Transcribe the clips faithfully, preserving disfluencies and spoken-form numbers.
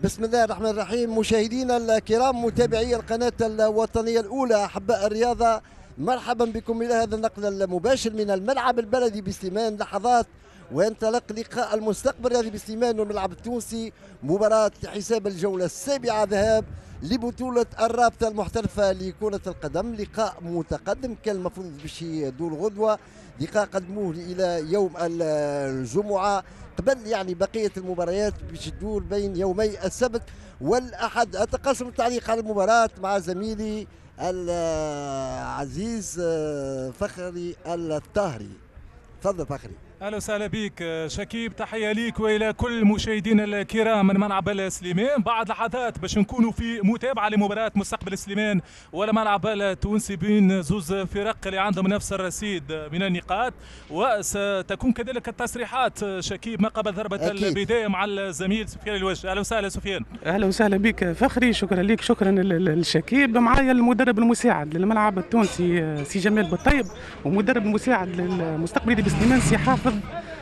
بسم الله الرحمن الرحيم. مشاهدينا الكرام، متابعي القناة الوطنية الأولى، أحباء الرياضة، مرحبا بكم إلى هذا النقل المباشر من الملعب البلدي بسليمان. لحظات وينطلق لقاء المستقبل الرياضي بسليمان والملعب التونسي، مباراة لحساب الجولة السابعة ذهاب لبطولة الرابطة المحترفة لكرة القدم. لقاء متقدم كان المفروض باش يدور غدوة، لقاء قدموه إلى يوم الجمعة قبل يعني بقية المباريات باش تدور بين يومي السبت والأحد. أتقاسم التعليق على المباراة مع زميلي العزيز فخري الطاهري. تفضل فخري. اهلا وسهلا بك شكيب، تحية ليك والى كل مشاهدينا الكرام من ملعب سليمان. بعد لحظات باش نكونوا في متابعه لمباراة مستقبل سليمان والملعب التونسي بين زوز فرق اللي عندهم نفس الرصيد من النقاط، وستكون كذلك التصريحات شكيب ما قبل ضربه البداية مع الزميل سفيان الوجه. اهلا وسهلا سفيان. اهلا وسهلا بك فخري، شكرا لك، شكرا للشكيب. معايا المدرب المساعد للملعب التونسي سي جمال بالطيب، ومدرب المساعد للمستقبل بسليمان سي حافظ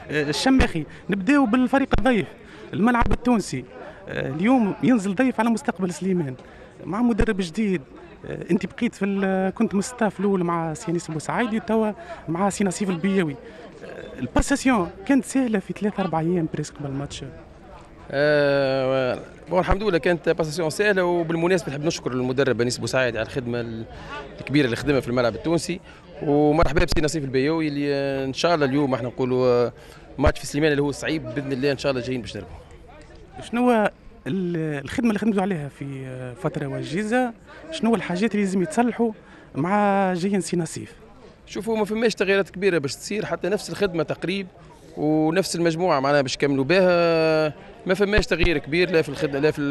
الشماخي. نبداو بالفريق الضيف الملعب التونسي. اليوم ينزل ضيف على مستقبل سليمان مع مدرب جديد. انت بقيت في كنت من ال staff الاول مع سي انيس بوسعيدي، توا مع سي نصيف البياوي. ال passation كانت سهلة في ثلاثة أربع ايام presque قبل الماتش؟ أه bon الحمد لله كانت passation سهلة، وبالمناسبة نحب نشكر المدرب انيس بوسعيدي على الخدمة الكبيرة اللي خدمها في الملعب التونسي، ومرحبا بسي نصيف البياوي اللي ان شاء الله اليوم احنا نقولوا ماتش في سليمان اللي هو صعيب باذن الله ان شاء الله جايين باش نربحوا. شنو الخدمة اللي خدمتوا عليها في فترة وجيزة؟ شنو الحاجات اللي لازم يتصلحوا مع جايين سي نصيف؟ شوفوا ما فماش تغييرات كبيرة باش تصير، حتى نفس الخدمة تقريب ونفس المجموعة معناها باش كملوا بها، ما فماش تغيير كبير لا في الخدمة لا في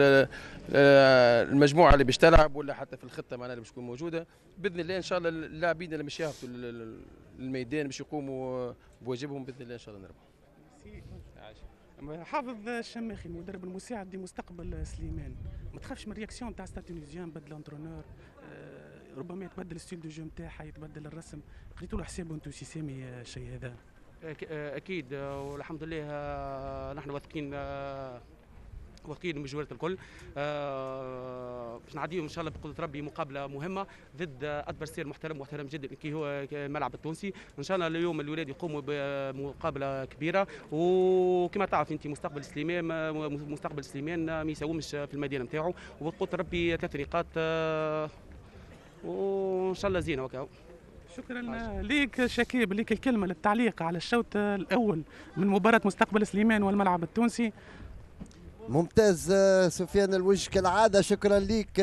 المجموعة اللي باش تلعب ولا حتى في الخطة معناها اللي باش تكون موجودة. باذن الله ان شاء الله اللاعبين اللي باش يهبطوا للميدان باش يقوموا بواجبهم باذن الله ان شاء الله نربحوا. حافظ الشماخي المدرب المساعد لمستقبل سليمان، ما تخافش من réaction تاع Stade Tunisien؟ بدل entraîneur، ربما يتبدل style de jeu نتاعها، يتبدل الرسم، قريتوا له حسابه انتم سي سامي الشيء هذا؟ اكيد والحمد لله نحن واثقين واثقين من جوارة الكل باش نعديهم ان شاء الله بقدره ربي مقابله مهمة ضد adversaire محترم محترم جدا كي هو الملعب التونسي. ان شاء الله اليوم الولاد يقوموا بمقابله كبيرة، وكما تعرف انت مستقبل سليمان مستقبل سليمان ما يساومش في المدينة نتاعو، وبقدره ربي ثلاث نقاط وان شاء الله زينة وكاو. شكرا ليك شكيب، ليك الكلمة للتعليق على الشوط الاول من مباراة مستقبل سليمان والملعب التونسي. ممتاز سفيان الوجه كالعادة، شكرا ليك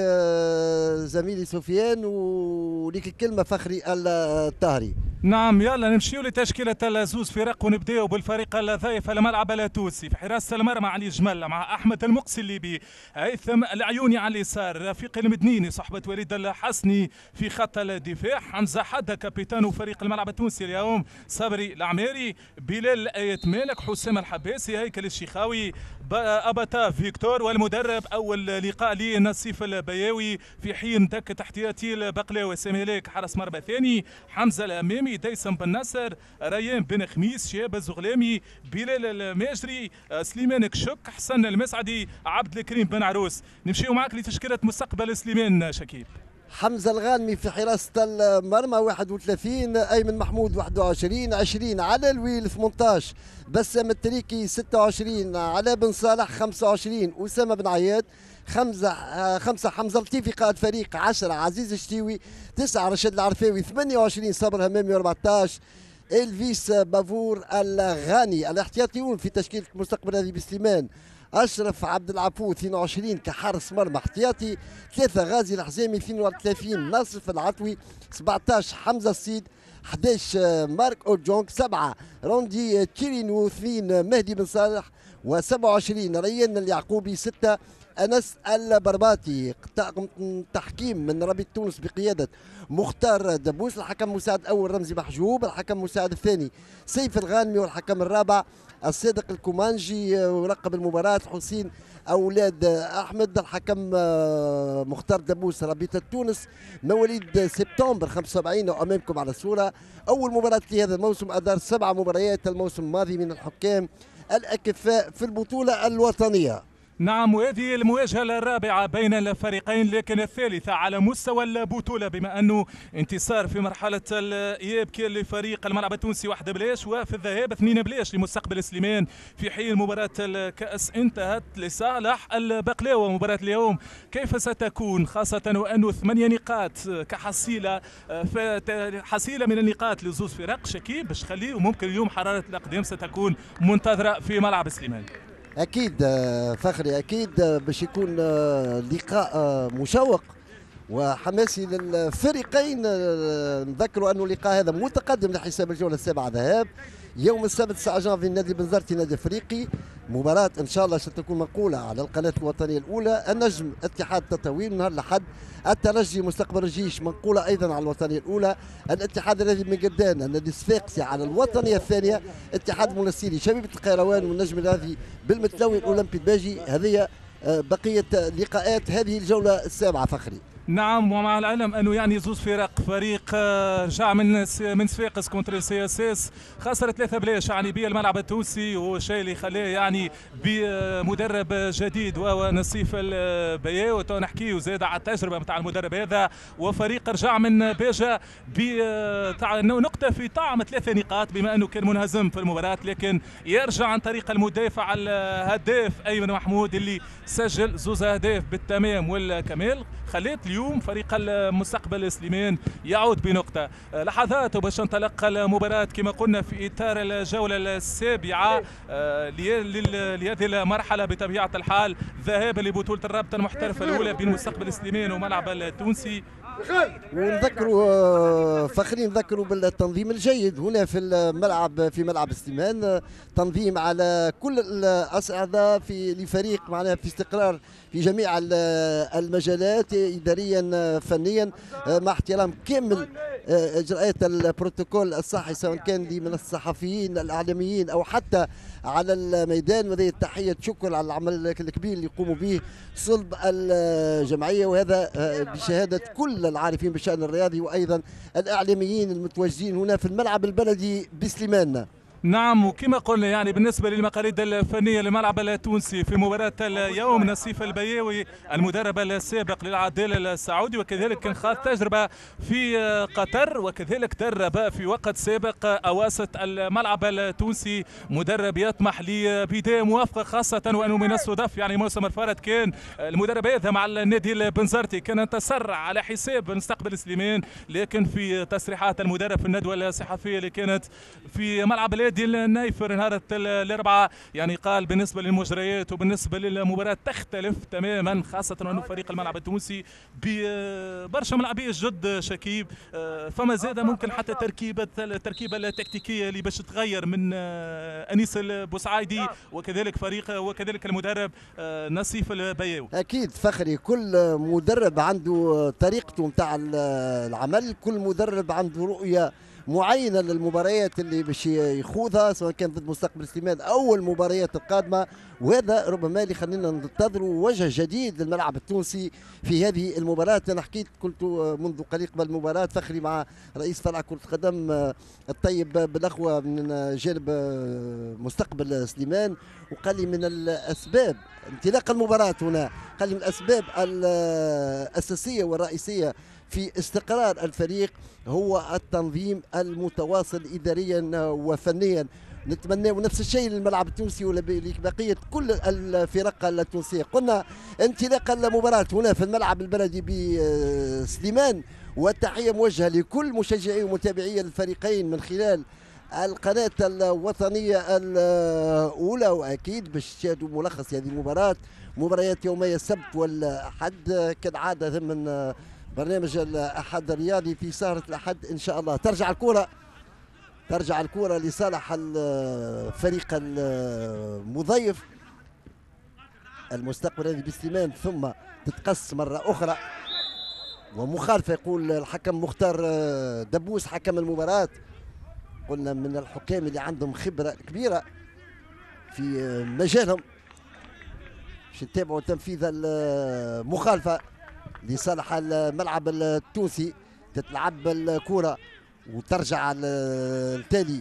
زميلي سفيان، وليك الكلمة فخري الطاهري. نعم يلا نمشيو لتشكيله الزوز فرق، ونبداو بالفريق الضيف الملعب التونسي. في حراسة المرمى علي جمل مع احمد المقسي الليبي، هيثم العيوني على اليسار، رفيق المدنيني صحبه وليد الحسني في خط الدفاع، حمزة حده capitaine فريق الملعب التونسي اليوم، صبري العماري، بلال ايت مالك، حسام الحباسي، هيكل الشيخاوي، اباتا فيكتور، والمدرب اول لقاء لنصيف البياوي، في حين دكه احتياطي البقلاوي سامي هلاك حارس مرمى ثاني، حمزة الامامي، ديسم بن نصر، ريان بن خميس، شهاب الزغلامي، بلال الماجري، سليمان كشك، حسن المسعدي، عبد الكريم بن عروس. نمشيو معاك لتشكيله مستقبل سليمان شكيب. حمزة الغانمي في حراسة المرمى واحد وثلاثين، ايمن محمود واحد وعشرين، عشرين على الويل ثمانية عشر، بسام التريكي ستة وعشرين، على بن صالح خمسة وعشرين، اسامة بن عياد خمسة، خمسة حمزة لطيفي قائد فريق، عشرة عزيز الشتيوي، تسعة رشاد العرفاوي، ثمانية وعشرين صابر همامي، أربعة عشر الفيس بافور الغاني. الاحتياطيون في تشكيله مستقبل هذه بسليمان: اشرف عبد العفو اثنين وعشرين كحارس مرمى احتياطي، ثلاثة غازي الحزامي اثنين وثلاثين، ناصف العطوي سبعة عشر، حمزة السيد أحد عشر، مارك اورجونك سبعة، روندي تشيرينو اثنين، مهدي بن صالح وسبعة وعشرين، ريان اليعقوبي ستة، انس البرباتي. طاقم تحكيم من رابطه تونس بقيادة مختار دبوس، الحكم المساعد الاول رمزي محجوب، الحكم المساعد الثاني سيف الغانمي، والحكم الرابع الصادق الكومانجي. ورقب المباراة حسين اولاد احمد. الحكم مختار دبوس رابطه تونس مواليد سبتمبر خمسة وسبعين وامامكم على الصورة. اول مباراة لهذا الموسم، ادار سبع مباريات الموسم الماضي من الحكام الاكفاء في البطولة الوطنية. نعم، وهذه المواجهة الرابعة بين الفريقين لكن الثالثة على مستوى البطولة، بما أنه انتصار في مرحلة الإياب كان لفريق الملعب التونسي واحد بلاش، وفي الذهاب اثنين بلاش لمستقبل سليمان، في حين مباراة الكأس انتهت لصالح البقلاوة. مباراة اليوم كيف ستكون، خاصة وأنه ثمانية نقاط كحصيلة حصيلة من النقاط لزوز فرق شكيب باش تخليه، وممكن اليوم حرارة الأقدام ستكون منتظرة في ملعب سليمان. أكيد فخري، أكيد باش يكون لقاء مشوق وحماسي للفريقين. نذكروا أنه اللقاء هذا متقدم لحساب الجولة السابعة ذهاب يوم السبت تسعة جانفي النادي بنزرتي نادي افريقي، مباراة ان شاء الله ستكون منقولة على القناة الوطنية الأولى. النجم اتحاد تطاوين نهار الأحد، الترجي مستقبل الجيش منقولة أيضا على الوطنية الأولى، الاتحاد الذي من قدان النادي الصفاقسي على الوطنية الثانية، اتحاد منستيري شبيبة القيروان والنجم الرياضي بالمتلوي الأولمبي الباجي. هذه بقية لقاءات هذه الجولة السابعة فخري. نعم، ومع العلم انه يعني زوز فرق، فريق رجع من من صفاقس contre CSS خسر ثلاثة بلاش يعني بالملعب التونسي، والشيء اللي خلاه يعني بمدرب جديد وهو نصيف البياو، نحكيو زاد على التجربة نتاع المدرب هذا، وفريق رجع من باجة بنقطة في طعم ثلاثة نقاط بما انه كان منهزم في المباراة، لكن يرجع عن طريق المدافع الهداف ايمن محمود اللي سجل زوز اهداف بالتمام والكمال، خليت اليوم فريق المستقبل سليمان يعود بنقطة. لحظات باش انطلق المباراة كما قلنا في إطار الجولة السابعة لهذه المرحلة بطبيعة الحال، ذهاب لبطولة الرابطة المحترفة الأولى بين مستقبل سليمان وملعب التونسي. ونذكروا فخرين، نذكروا بالتنظيم الجيد هنا في الملعب، في ملعب سليمان، تنظيم على كل الأصعدة في لفريق معناها في استقرار في جميع المجالات إداريا فنيا، مع احترام كامل إجراءات البروتوكول الصحي سواء كان من الصحفيين الإعلاميين أو حتى على الميدان. وهذه التحية شكر على العمل الكبير اللي يقوموا به صلب الجمعية، وهذا بشهادة كل العارفين بالشأن الرياضي وأيضا الإعلاميين المتواجدين هنا في الملعب البلدي بسليمان. نعم، وكما قلنا يعني بالنسبة للمقاليد الفنية للملعب التونسي في مباراة اليوم، نصيف البياوي المدرب السابق للعدالة السعودي، وكذلك كان خاض تجربة في قطر، وكذلك درب في وقت سابق أواسط الملعب التونسي، مدرب يطمح لبداية موافقة، خاصة وأنه من الصدف يعني موسم الفارط كان المدرب هذا مع النادي البنزرتي كان انتصر على حساب مستقبل سليمان، لكن في تصريحات المدرب في الندوة الصحفية اللي كانت في ملعب النادي النايفر نهار الاربعاء يعني قال بالنسبة للمجريات وبالنسبة للمباراة تختلف تماما، خاصة انه فريق الملعب التونسي ببرشا ملاعبيه جد شكيب، فما زاد ممكن حتى تركيبه التركيبة التكتيكيه اللي باش تغير من انيس البوسعايدي وكذلك فريق وكذلك المدرب نصيف البياوي. اكيد فخري، كل مدرب عنده طريقته نتاع العمل، كل مدرب عنده رؤية معينة للمباريات اللي باش يخوضها سواء كان ضد مستقبل سليمان او المباريات القادمة، وهذا ربما اللي خلينا ننتظروا وجه جديد للملعب التونسي في هذه المباراة. انا حكيت كنت منذ قليل قبل المباراة فخري مع رئيس فرع كره القدم الطيب بالاخوة من جانب مستقبل سليمان، وقال لي من الاسباب انطلاق المباراة هنا، قال لي من الاسباب الاساسية والرئيسيه في استقرار الفريق هو التنظيم المتواصل إداريا وفنيا. نتمنى نفس الشيء للملعب التونسي ولبقية كل الفرق التونسية. قلنا انطلاق المباراة هنا في الملعب البلدي بسليمان، والتحية موجهة لكل مشجعي ومتابعي الفريقين من خلال القناة الوطنية الأولى، وأكيد باش تشاهدوا ملخص هذه المباراة، مباريات يومية السبت والأحد كالعادة ضمن برنامج الأحد الرياضي في سهرة الأحد إن شاء الله. ترجع الكرة، ترجع الكرة لصالح الفريق المضيف المستقبل هذه بسليمان، ثم تتقص مرة أخرى ومخالفة يقول الحكم مختار دبوس حكم المباراة. قلنا من الحكام اللي عندهم خبرة كبيرة في مجالهم، باش نتابعوا تنفيذ المخالفة لصالح الملعب التونسي. تتلعب الكرة وترجع التالي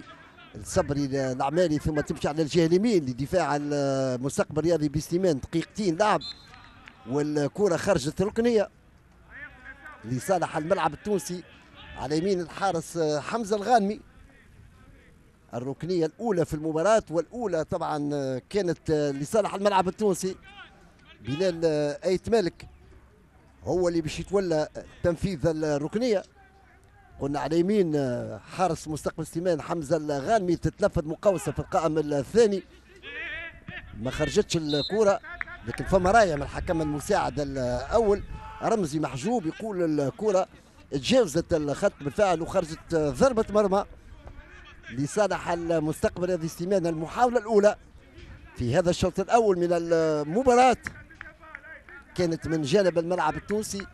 الصبري العمالي، ثم تمشي على الجهة اليمين لدفاع المستقبل الرياضي بسليمان. دقيقتين لعب والكره خرجت ركنيه لصالح الملعب التونسي على يمين الحارس حمزة الغانمي. الركنيه الاولى في المباراة والاولى طبعا كانت لصالح الملعب التونسي. بلال ايت مالك هو اللي باش يتولى تنفيذ الركنيه. قلنا على يمين حارس مستقبل سليمان حمزة الغانمي، تتنفذ مقاوسه في القائم الثاني، ما خرجتش الكره، لكن فما رايه من الحكم المساعد الاول رمزي محجوب يقول الكره تجاوزت الخط بالفعل وخرجت ضربه مرمى لصالح المستقبل الرياضي سليمان. المحاولة الاولى في هذا الشوط الاول من المباراة كانت من جانب الملعب التونسي،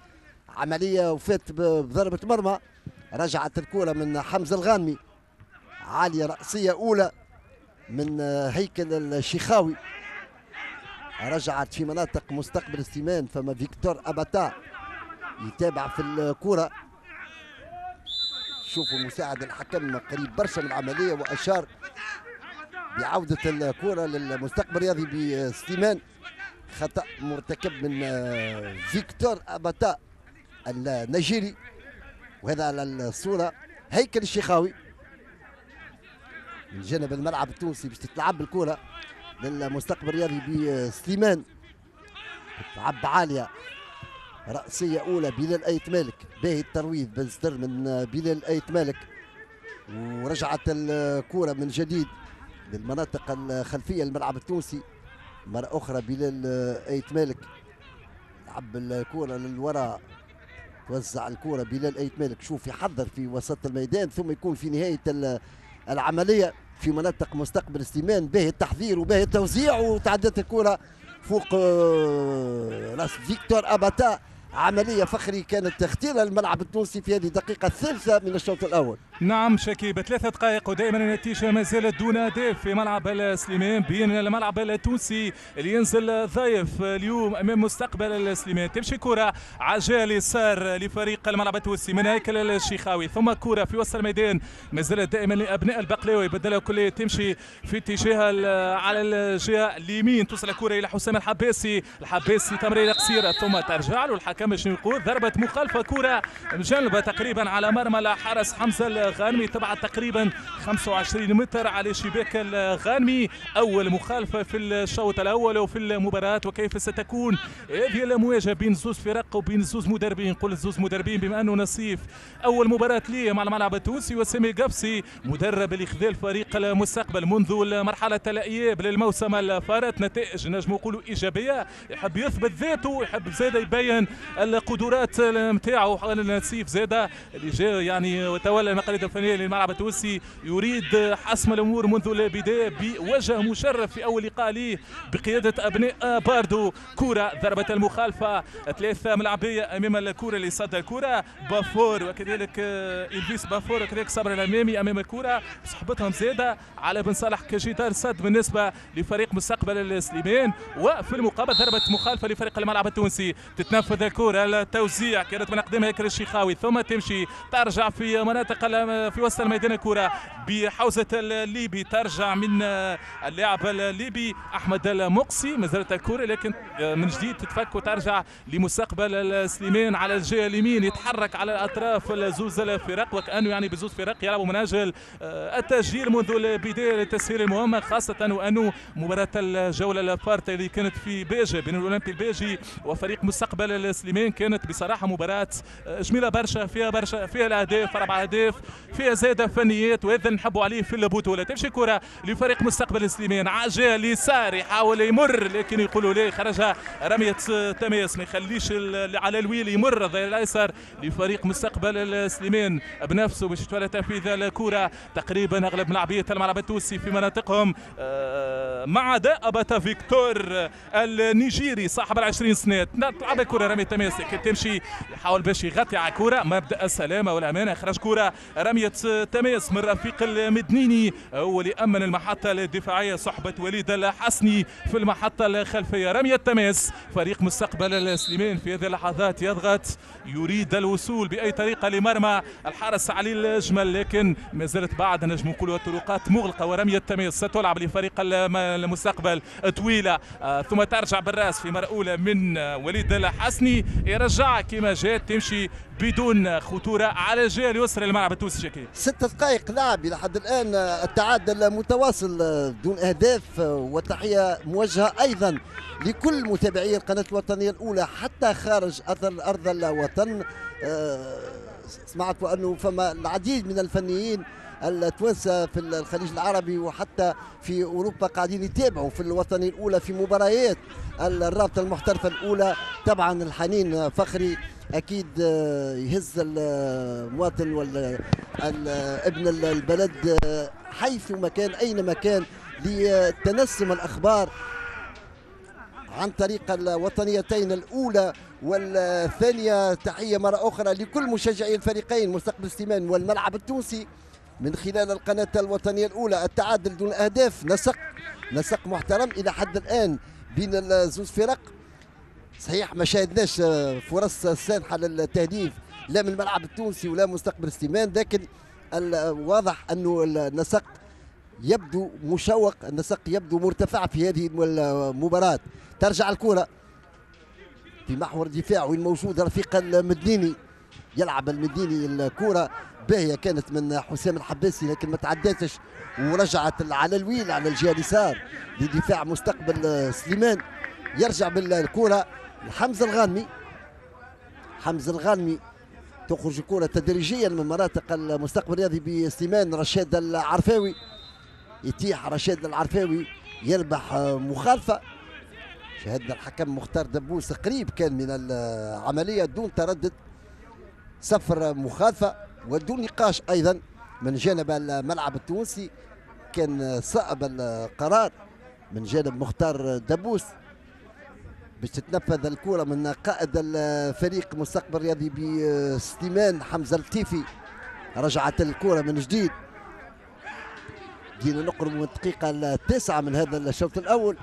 عملية وفات بضربه مرمى. رجعت الكره من حمزة الغانمي، عالية راسية اولى من هيكل الشيخاوي، رجعت في مناطق مستقبل سليمان. فما فيكتور اباتا يتابع في الكره. شوفوا مساعد الحكم قريب برشا من العملية واشار بعوده الكره للمستقبل الرياضي بسليمان. خطا مرتكب من فيكتور اباتا النيجيري، وهذا على الصورة هيكل الشيخاوي من جانب الملعب التونسي باش تتلعب الكره للمستقبل الرياضي بسليمان. تلعب عالية رأسية أولى بلال أيت مالك، باهي الترويض بالصدر من بلال أيت مالك، ورجعت الكرة من جديد للمناطق الخلفية للملعب التونسي. مرة أخرى بلال أيت مالك لعب الكرة للوراء، توزع الكرة بلال أيت مالك، شوف يحضر في وسط الميدان ثم يكون في نهاية العملية في مناطق مستقبل سليمان. باهي التحضير وباهي التوزيع، وتعدت الكرة فوق راس فيكتور أباتا. عملية فخري كانت تختيرها الملعب التونسي في هذه الدقيقة الثالثة من الشوط الأول. نعم شكيب، ثلاثة دقائق ودائما النتيجة ما زالت دون هدف في ملعب سليمان بين الملعب التونسي اللي ينزل ضيف اليوم امام مستقبل سليمان. تمشي كرة عجال اليسار لفريق الملعب التونسي من هيكل الشيخاوي، ثم كرة في وسط الميدان ما زالت دائما لابناء البقلاوي، بدلها كلية تمشي في اتجاه على الجهة اليمين، توصل الكرة الى حسام الحباسي، الحباسي تمريرة قصيرة ثم ترجع له الحكم شنو يقول؟ ضربة مخالفة، كرة مجنبة تقريبا على مرمى الحارس حمزة الغانمي، تبعد تقريبا خمسة وعشرين متر على شباك الغانمي. أول مخالفة في الشوط الأول وفي المباراة، وكيف ستكون هذه المواجهة بين زوز فرق وبين زوز مدربين؟ نقول زوز مدربين بما أنه نصيف أول مباراة ليه مع الملعب التونسي، وسامي قفصي مدرب اللي خذا الفريق المستقبل منذ مرحلة الإياب للموسم الفارط، نتائج نجم نقولوا إيجابية، يحب يثبت ذاته، يحب زاد يبين القدرات نتاعو. نصيف زاده اللي جاء يعني وتولى المقاليد الفنية للملعب التونسي يريد حسم الامور منذ البداية بوجه مشرف في اول لقاء ليه بقيادة ابناء باردو. كره ضربه المخالفة، ثلاثة ملاعبيه امام الكره اللي صد الكره بافور وكذلك الفيس بافور وكذلك صبر الامامي امام الكره بصحبتهم زاده على بن صالح كجدار صد بالنسبة لفريق مستقبل السليمان. وفي المقابل ضربه مخالفة لفريق الملعب التونسي، تتنفذ الكره، التوزيع كانت من اقدام هيكل الشيخاوي، ثم تمشي ترجع في مناطق في وسط الميدان الكرة بحوزة الليبي، ترجع من اللاعب الليبي أحمد المقصي، ما زالت الكرة لكن من جديد تتفك وترجع لمستقبل السليمان على الجهة اليمين، يتحرك على الأطراف زوز الفرق وكأنه يعني بزوز فرق يلعبوا من أجل التسجيل منذ البداية لتسهيل المهمة، خاصة وأنه مباراة الجولة الفارطة اللي كانت في باجة بين الأولمبي الباجي وفريق مستقبل السليمان كانت بصراحة مباراة جميلة برشا، فيها برشا فيها الأهداف، أربع أهداف، فيها زادة فنيات، وهذا نحبوا عليه في البطولة. تمشي كرة لفريق مستقبل سليمان عجال اليسار يحاول يمر لكن يقولوا ليه خرجها رمية تماس، ما يخليش على الويل يمر الظهير الايسر لفريق مستقبل سليمان بنفسه باش يتولى تنفيذ الكرة. تقريبا اغلب ملاعبية الملعب التونسي في مناطقهم ما عدا أباتا فيكتور النيجيري صاحب العشرين سنة. تلعب الكرة رمية تماس. تماس لكن تمشي، يحاول باش يغطي على كرة، مبدا السلامة والامانة، خرج كرة رمية تماس من رفيق المدنيني هو اللي امن المحطة الدفاعية صحبه وليد الحسني في المحطة الخلفية. رمية تماس، فريق مستقبل السليمان في هذه اللحظات يضغط، يريد الوصول باي طريقه لمرمى الحارس علي الجمل، لكن ما زالت بعد نجم نقولوا الطرقات مغلقة. ورميه تماس ستلعب لفريق المستقبل طويلة، ثم ترجع بالراس في مرة اولى من وليد الحسني، يرجع كما جات تمشي بدون خطورة على الجهة اليسرى للملعب التونسي. شكيب ست دقائق لعب الى حد الان، التعادل متواصل دون اهداف، والتحيه موجهة ايضا لكل متابعي القناة الوطنية الاولى حتى خارج ارض الوطن. سمعت انه فما العديد من الفنيين التوانسة في الخليج العربي وحتى في اوروبا قاعدين يتابعوا في الوطنية الاولى في مباريات الرابطة المحترفه الاولى. طبعا الحنين فخري اكيد يهز المواطن ولا ابن البلد حيث ما كان اينما كان لتنسم الاخبار عن طريق الوطنيتين الاولى والثانية. تحية مرة اخرى لكل مشجعي الفريقين مستقبل سليمان والملعب التونسي من خلال القناة الوطنية الاولى. التعادل دون اهداف، نسق نسق محترم الى حد الان بين الزوز فرق. صحيح ما شاهدناش فرص سانحه للتهديف لا من الملعب التونسي ولا مستقبل سليمان، لكن الواضح انه النسق يبدو مشوق، النسق يبدو مرتفع في هذه المباراة. ترجع الكرة في محور دفاع وين موجود رفيق المدنيني، يلعب المديني الكرة باهية كانت من حسام الحباسي لكن ما تعداتش ورجعت على الويل على الجهة اليسار لدفاع مستقبل سليمان. يرجع بالكرة لحمزة الغانمي، حمزة الغانمي تخرج الكرة تدريجيا من مناطق المستقبل الرياضي بسليمان. رشاد العرفاوي يتيح، رشاد العرفاوي يربح مخالفة. شاهدنا الحكم مختار دبوس قريب كان من العملية دون تردد، صفر مخالفة ودون نقاش أيضا من جانب الملعب التونسي، كان صائب القرار من جانب مختار دبوس باش تتنفذ الكرة من قائد الفريق مستقبل الرياضي بسليمان حمزة اللطيفي. رجعت الكرة من جديد، بدينا نقرب من الدقيقة التاسعة من هذا الشوط الأول.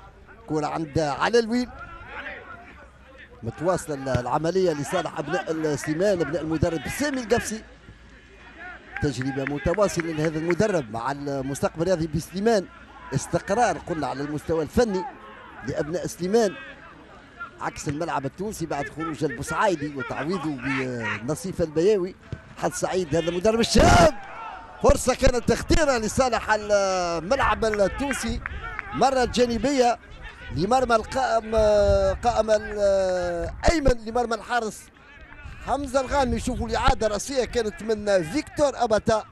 كرة عند على الويل، متواصلة العملية لصالح أبناء سليمان، أبناء المدرب سامي القفصي. تجربة متواصلة لهذا المدرب مع المستقبل الرياضي بسليمان، استقرار قلنا على المستوى الفني لأبناء سليمان عكس الملعب التونسي بعد خروج البوسعايدي وتعويضه بنصيف البياوي. حظ سعيد هذا المدرب الشاب، فرصة كانت خطيرة لصالح الملعب التونسي، مرة جانبية لمرمى القائم قائم الأيمن لمرمى الحارس حمزة الغانمي. شوفوا الإعادة الرأسية كانت من فيكتور أباتا،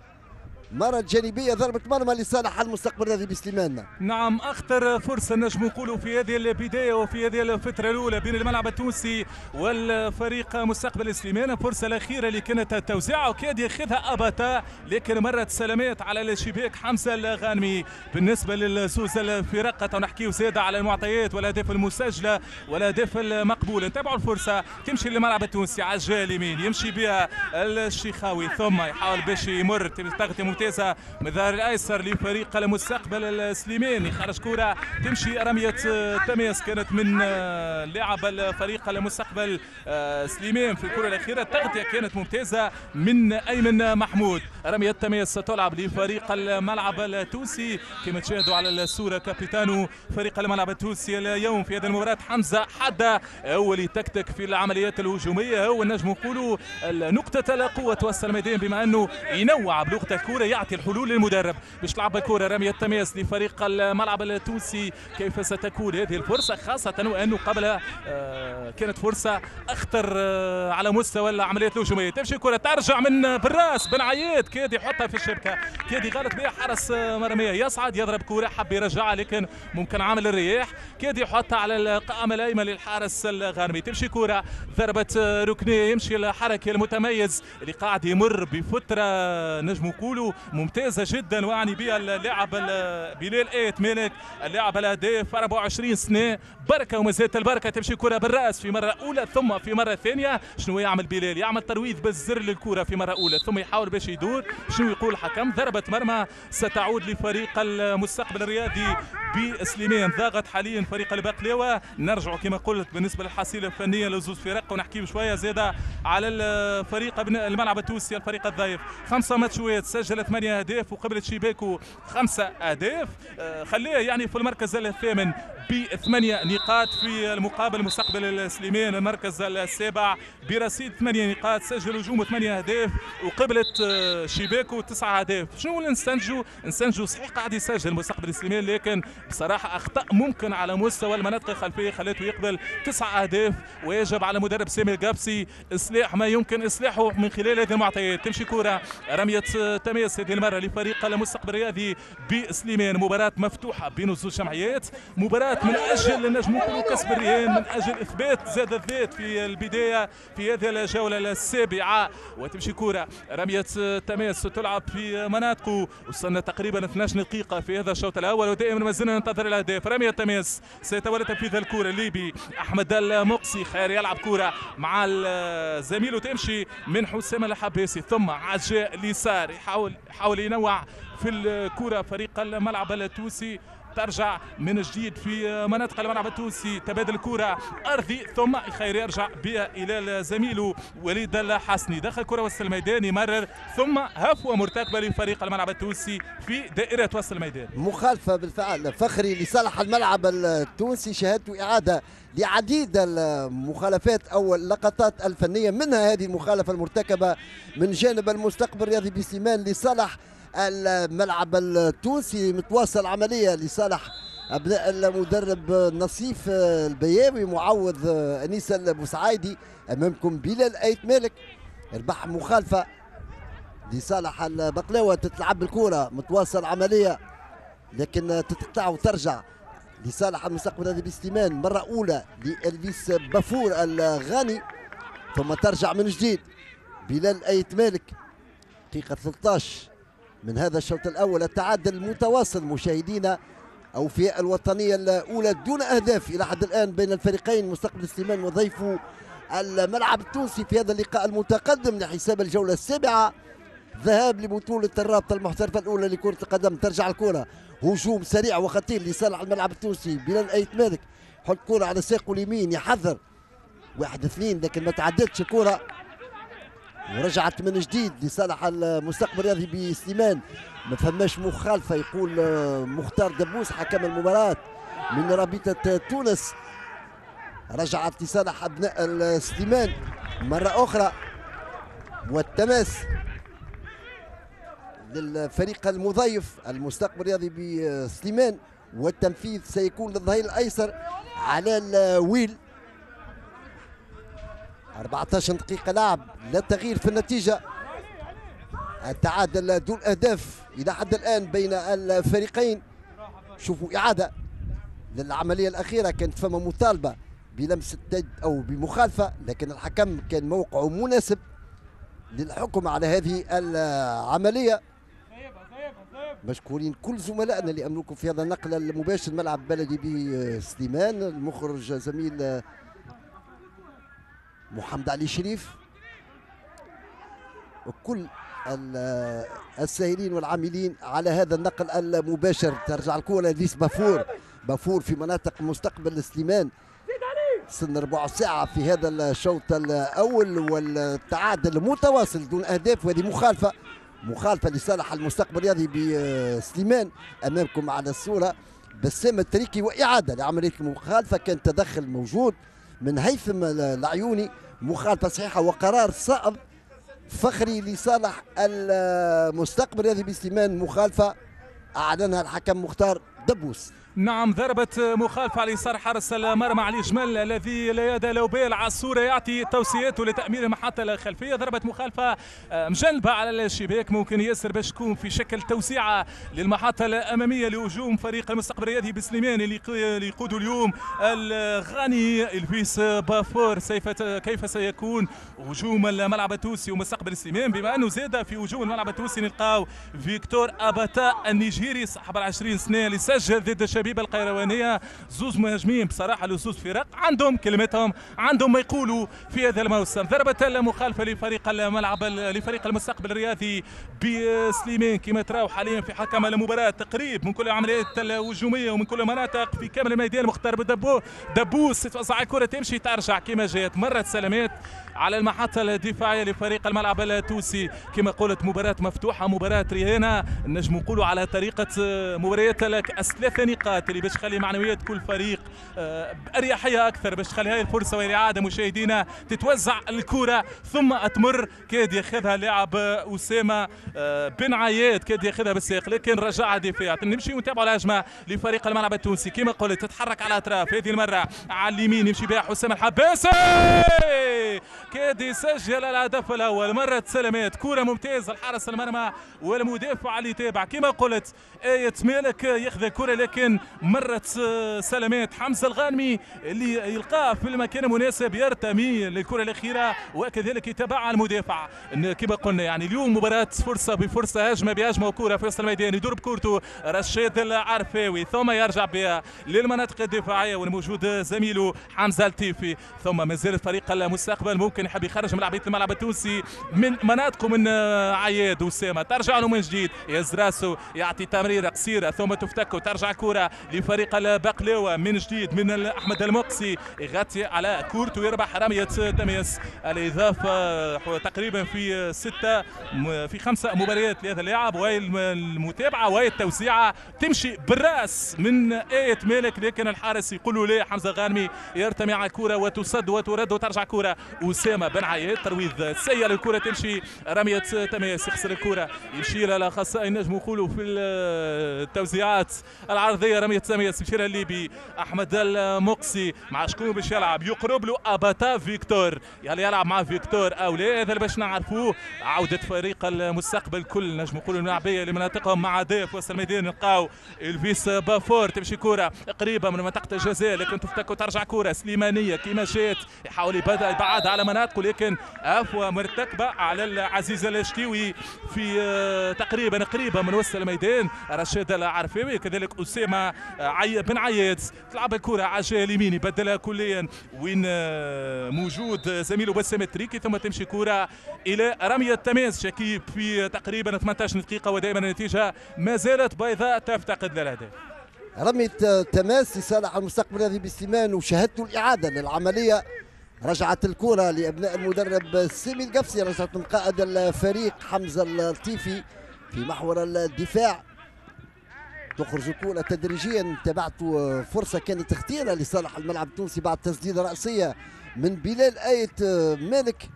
مرة جانبية ضربة مرمى لصالح المستقبل الرياضي بسليمان. نعم، أخطر فرصة نجم نقولوا في هذه البداية وفي هذه الفترة الأولى بين الملعب التونسي والفريق مستقبل سليمان، الفرصة الأخيرة اللي كانت التوزيع وكاد ياخذها أباتا، لكن مرت سلامات على الشباك حمزة الغانمي. بالنسبة للزوز الفرق نحكيو زادة على المعطيات والأهداف المسجلة والأهداف المقبولة. نتابعوا الفرصة تمشي للملعب التونسي على الجهة اليمين، يمشي بها الشيخاوي ثم يحاول باش يمر، تغطية ممتازة من الظهير الايسر لفريق المستقبل السليماني، خرج كرة تمشي رمية تماس كانت من لاعب الفريق المستقبل سليمان في الكرة الأخيرة. التغطية كانت ممتازة من أيمن محمود. رمية تماس تلعب لفريق الملعب التونسي كما تشاهدوا على الصورة، كابيتانو فريق الملعب التونسي اليوم في هذه المباراة حمزة حدة هو اللي تكتك في العمليات الهجومية، هو نجم نقولوا نقطة القوة توصل الميدان بما أنه ينوع بلغة الكرة، يعطي الحلول للمدرب باش تلعب الكرة. رمية التماس لفريق الملعب التونسي، كيف ستكون هذه الفرصة خاصة وأنه قبلها كانت فرصة أخطر على مستوى العمليات الهجومية. تمشي الكرة ترجع من بالراس بن عياد، كاد يحطها في الشبكة، كاد يغلط بها حارس مرمية، يصعد يضرب كرة حب يرجعها لكن ممكن عامل الرياح، كاد يحطها على القائمة الأيمن للحارس الغانمي. تمشي كرة ضربة ركنية، يمشي الحركة المتميز اللي قاعد يمر بفترة نجم نقولوا ممتازة جدا، واعني بها اللاعب بلال ايت مالك اللاعب الهداف أربعة وعشرين سنة، بركة وما زالت البركة. تمشي كره بالراس في مرة اولى ثم في مرة ثانية. شنو يعمل بلال؟ يعمل ترويض بالزر للكرة في مرة اولى ثم يحاول باش يدور. شنو يقول الحكم؟ ضربه مرمى ستعود لفريق المستقبل الرياضي بسليمان. ضاغط حاليا فريق البقلاوه. نرجع كما قلت بالنسبة للحصيله الفنية لزوج فرق ونحكي شوية زاده على الفريق الملعب التونسي الفريق الضيف. خمسة ماتشات سجل ثمانية اهداف وقبلت شباكه خمسة اهداف، خليه يعني في المركز الثامن بثمانية نقاط. في المقابل مستقبل سليمان المركز السابع برصيد ثمانية نقاط، سجل هجوم ثمانية اهداف وقبلت شباكه تسعة اهداف. شنو اللي نستنتجوا؟ نستنتجوا صحيح قاعد يسجل مستقبل سليمان، لكن بصراحة اخطاء ممكن على مستوى المناطق الخلفية خلته يقبل تسعة اهداف، ويجب على مدرب سامي القابسي اصلاح ما يمكن اصلاحه من خلال هذه المعطيات. تمشي كره رمية تماس هذه المرة لفريق المستقبل الرياضي بسليمان. مباراة مفتوحة بين الزوج جمعيات، مباراة من اجل نجم نقولوا كسب الرهان، من اجل اثبات زاد الذات في البداية في هذه الجولة السابعة. وتمشي كره رمية تماس تلعب في مناطقه، وصلنا تقريبا اثناش دقيقة في هذا الشوط الاول ودائما ما زلنا ننتظر الاهداف. رمية تماس سيتولى تنفيذ الكره الليبي احمد المقصي، خير يلعب كره مع زميله تمشي من حسام الحباسي ثم عجاء اليسار، يحاول يحاول ينوع في الكره فريق الملعب التونسي. ترجع من جديد في مناطق الملعب التونسي، تبادل الكرة أرضي ثم خير يرجع بها إلى زميله وليد الحسني، دخل كرة وسط الميدان يمرر ثم هفوة مرتكبة لفريق الملعب التونسي في دائرة وسط الميدان. مخالفة بالفعل فخري لصالح الملعب التونسي، شهدت إعادة لعديد المخالفات أو اللقطات الفنية، منها هذه المخالفة المرتكبة من جانب المستقبل الرياضي بسليمان لصالح الملعب التونسي. متواصل عملية لصالح أبناء المدرب نصيف البياوي معوض أنيس البوسعايدي. أمامكم بلال أيت مالك ربح مخالفة لصالح البقلاوة، تتلعب الكرة متواصل عملية لكن تتقطع وترجع لصالح المستقبل الرياضي بسليمان مرة أولى لإلفيس بافور الغاني، ثم ترجع من جديد بلال أيت مالك. دقيقة ثلاثة عشر من هذا الشوط الأول، التعادل المتواصل مشاهدينا أو في الوطنية الأولى دون أهداف إلى حد الآن بين الفريقين مستقبل سليمان وضيفه الملعب التونسي في هذا اللقاء المتقدم لحساب الجولة السابعة ذهاب لبطولة الرابطة المحترفة الأولى لكرة القدم. ترجع الكرة هجوم سريع وخطير لصالح الملعب التونسي، بلال أيت مالك حط كرة على ساقه اليمين يحذر واحد اثنين لكن ما تعدتش الكرة ورجعت من جديد لصالح المستقبل الرياضي بسليمان. ما فماش مخالفة يقول مختار دبوس حكم المباراة من رابطة تونس. رجعت لصالح أبناء سليمان مرة أخرى، والتماس للفريق المضيف المستقبل الرياضي بسليمان، والتنفيذ سيكون للظهير الأيسر على الويل. أربعة عشر دقيقة لعب، لا تغيير في النتيجة، التعادل دون أهداف إلى حد الآن بين الفريقين. شوفوا إعادة للعملية الأخيرة، كانت فما مطالبة بلمسة يد أو بمخالفة، لكن الحكم كان موقعه مناسب للحكم على هذه العملية. مشكورين كل زملائنا اللي أملكوا في هذا النقل المباشر ملعب بلدي بسليمان، المخرج زميل محمد علي شريف، وكل الساهرين والعاملين على هذا النقل المباشر. ترجع الكرة لديس بافور، بافور في مناطق مستقبل سليمان. سن ربع ساعة في هذا الشوط الأول والتعادل متواصل دون أهداف، وهذه مخالفة مخالفة لصالح المستقبل الرياضي بسليمان. أمامكم على الصورة بسام التريكي وإعادة لعملية المخالفة، كان تدخل موجود من هيثم العيوني، مخالفة صحيحة وقرار صائب فخري لصالح المستقبل الرياضي بسليمان، مخالفة أعلنها الحكم مختار دبوس. نعم، ضربة مخالفة على يسار حارس المرمى علي جمل الذي لا يد له بال على الصورة، يعطي توصياته لتأمين المحطة الخلفية. ضربة مخالفة مجنبة على الشباك، ممكن ياسر باش تكون في شكل توسيعة للمحطة الأمامية لهجوم فريق المستقبل الرياضي بسليمان اللي يقوده اليوم الغاني الفيس بافور. كيف سيكون هجوم الملعب التونسي ومستقبل سليمان، بما أنه زاد في هجوم الملعب التونسي نلقاو فيكتور أباتا النيجيري صاحب العشرين سنة اللي سجل ضد الشبيبة القيروانيه. زوز مهاجمين بصراحة لزوز فرق عندهم كلمتهم، عندهم ما يقولوا في هذا الموسم. ضربه المخالفة لفريق الملعب لفريق المستقبل الرياضي بسليمان كما تراو حاليا في حكم المباراة، تقريب من كل العمليات الهجومية ومن كل المناطق في كامل الميدان. مختار بدبو دبوس توزع الكره تمشي ترجع كما جات، مرت سلامات على المحطة الدفاعية لفريق الملعب التونسي. كما قلت مباراة مفتوحة، مباراة رهانه، نجم نقولوا على طريقه مباريات الثلاث نقاط اللي باش تخلي معنويات كل فريق باريحية اكثر، باش تخلي هاي الفرصة والاعاده مشاهدينا تتوزع الكره ثم تمر. كاد ياخذها لاعب اسامة بن عياد، كاد ياخذها بالساق لكن رجعها دفاع. نمشي ونتابعوا الهجمة لفريق الملعب التونسي كما قلت تتحرك على الاطراف، هذه المرة على اليمين يمشي بها حسام الحباسي، كاد يسجل الهدف الاول. مرت سلامات، كره ممتازة الحارس المرمى والمدافع اللي تابع كما قلت آية مالك ياخذ الكره، لكن مرت سلامات. حمزة الغانمي اللي يلقاه في المكان المناسب يرتمي للكرة الاخيرة وكذلك يتابعها المدافع. كما قلنا يعني اليوم مباراة فرصة بفرصه، هجمة بهجمه وكره في وسط الميدان، يدور بكورته رشيد العرفاوي ثم يرجع بها للمناطق الدفاعية والموجود زميله حمزة التيفي. ثم مازال فريق المستقبل ممكن يحب يخرج ملاعبيه الملعب التونسي من مناطقه من عياد اسامة، ترجع له من جديد، يهز راسه يعطي تمريره قصيرة ثم تفتك وترجع الكره لفريق البقلاوه من جديد من احمد المقسي، يغطي على كورته ويربح رمية تماس. الاضافة تقريبا في ستة في خمسة مباريات لهذا اللاعب، وهي المتابعة وهي التوزيعه تمشي بالراس من آية مالك، لكن الحارس يقول له لا. حمزة غانمي يرتمي على الكره وتصد وترد وترجع كره اسامة بن عياد، ترويض سيء للكرة تمشي رمية تماس، يخسر الكره يمشي لها الاخصائي نجم نقولوا في التوزيعات العرضية رمية تماس يمشي لها الليبي احمد المقسي. مع شكون باش يلعب؟ يقرب له اباتا فيكتور، يعني يلعب مع فيكتور او لا، هذا اللي باش نعرفوه. عوده فريق المستقبل كل نجم نقولوا الملاعبيه لمناطقهم مع ضيف وسط الميدان، نلقاو الفيس بافور تمشي كره قريبه من منطقة الجزاء لكن تفتك وترجع كره سليمانيه كيما جات، يحاول يبعدها على مناطقه لكن عفوه مرتكبه على العزيز الشتيوي في تقريبا قريبه من وسط الميدان. رشيد العرفاوي كذلك اسامة بن عياد، تلعب الكره على الجهة اليمين يبدلها كليا وين موجود زميله بسام التريكي، ثم تمشي كره الى رمية تماس شكيب في تقريبا ثمانية عشر دقيقة ودائما النتيجة ما زالت بيضاء تفتقد للهدف. رمية تماس لصالح المستقبل الرياضي بسليمان، وشاهدت الاعادة للعملية. رجعت الكرة لأبناء المدرب سامي القفصي، رجعت من قائد الفريق حمزة اللطيفي في محور الدفاع. تخرج الكرة تدريجيا، تبعت فرصة كانت اختيرة لصالح الملعب التونسي بعد تسديدة رأسية من بلال آية مالك.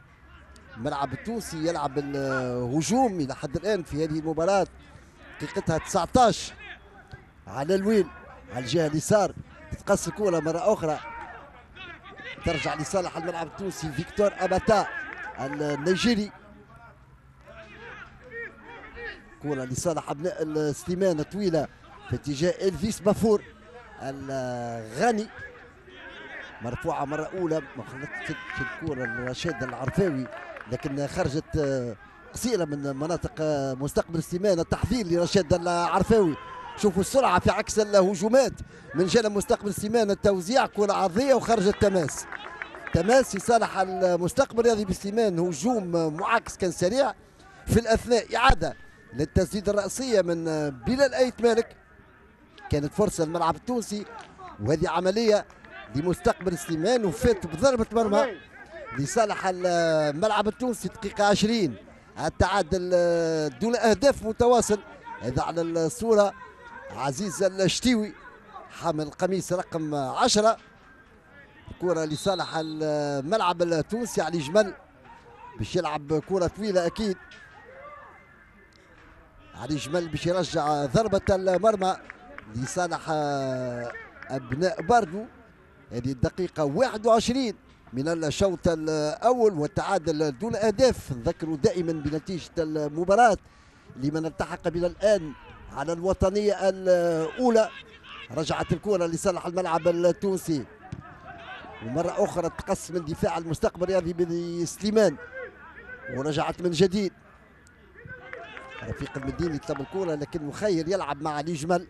الملعب التونسي يلعب الهجوم إلى حد الآن في هذه المباراة، دقيقتها تسعة عشر على الويل على الجهة اليسار، تتقص الكرة مرة أخرى ترجع لصالح الملعب التونسي فيكتور أباتا النيجيري. كرة لصالح أبناء السليمان طويلة في اتجاه إلفيس بافور الغاني، مرفوعة مرة أولى ما خلطتش الكرة لرشيد العرفاوي لكن خرجت قصيرة من مناطق مستقبل سليمان. التحذير لرشيد العرفاوي، شوفوا السرعة في عكس الهجومات من جانب مستقبل سليمان، التوزيع كرة عرضية وخرجت تماس. تماس لصالح المستقبل الرياضي بسليمان، هجوم معاكس كان سريع. في الأثناء إعادة للتسديدة الرأسية من بلال آيت مالك، كانت فرصة للملعب التونسي وهذه عملية لمستقبل سليمان وفات بضربة مرمى لصالح الملعب التونسي. دقيقة عشرين، التعادل دون أهداف متواصل. هذا على الصورة عزيز الشتيوي حامل قميص رقم عشرة. كرة لصالح الملعب التونسي علي جمل باش يلعب كرة طويلة أكيد. علي جمل باش يرجع ضربة المرمى لصالح أبناء باردو. هذه الدقيقة واحد وعشرين من الشوط الأول والتعادل دون أهداف. نذكر دائما بنتيجة المباراة لمن التحق بنا الآن على الوطنية الأولى. رجعت الكرة لصالح الملعب التونسي، ومرة أخرى تقص من دفاع المستقبل الرياضي بسليمان، ورجعت من جديد. رفيق المديني يطلب الكرة لكن مخير يلعب مع علي جمل.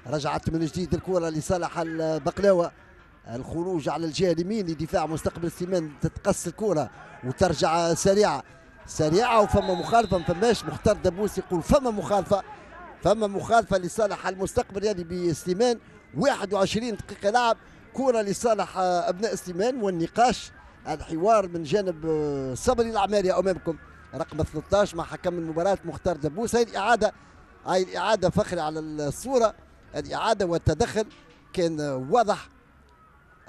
رجعت من جديد الكرة لصالح البقلاوة. الخروج على الجهة اليمين لدفاع مستقبل سليمان، تتقص الكرة وترجع سريعة سريعة وفما مخالفة، ما فماش. مختار دبوس يقول فما مخالفة، فما مخالفة لصالح المستقبل الرياضي بسليمان. واحد وعشرين دقيقة لعب، كرة لصالح أبناء سليمان. والنقاش الحوار من جانب صبري العماري أمامكم رقم ثلاثة عشر مع حكم المباراة مختار دبوس. هاي الإعادة، هاي الإعادة فخري على الصورة، الإعادة والتدخل كان واضح،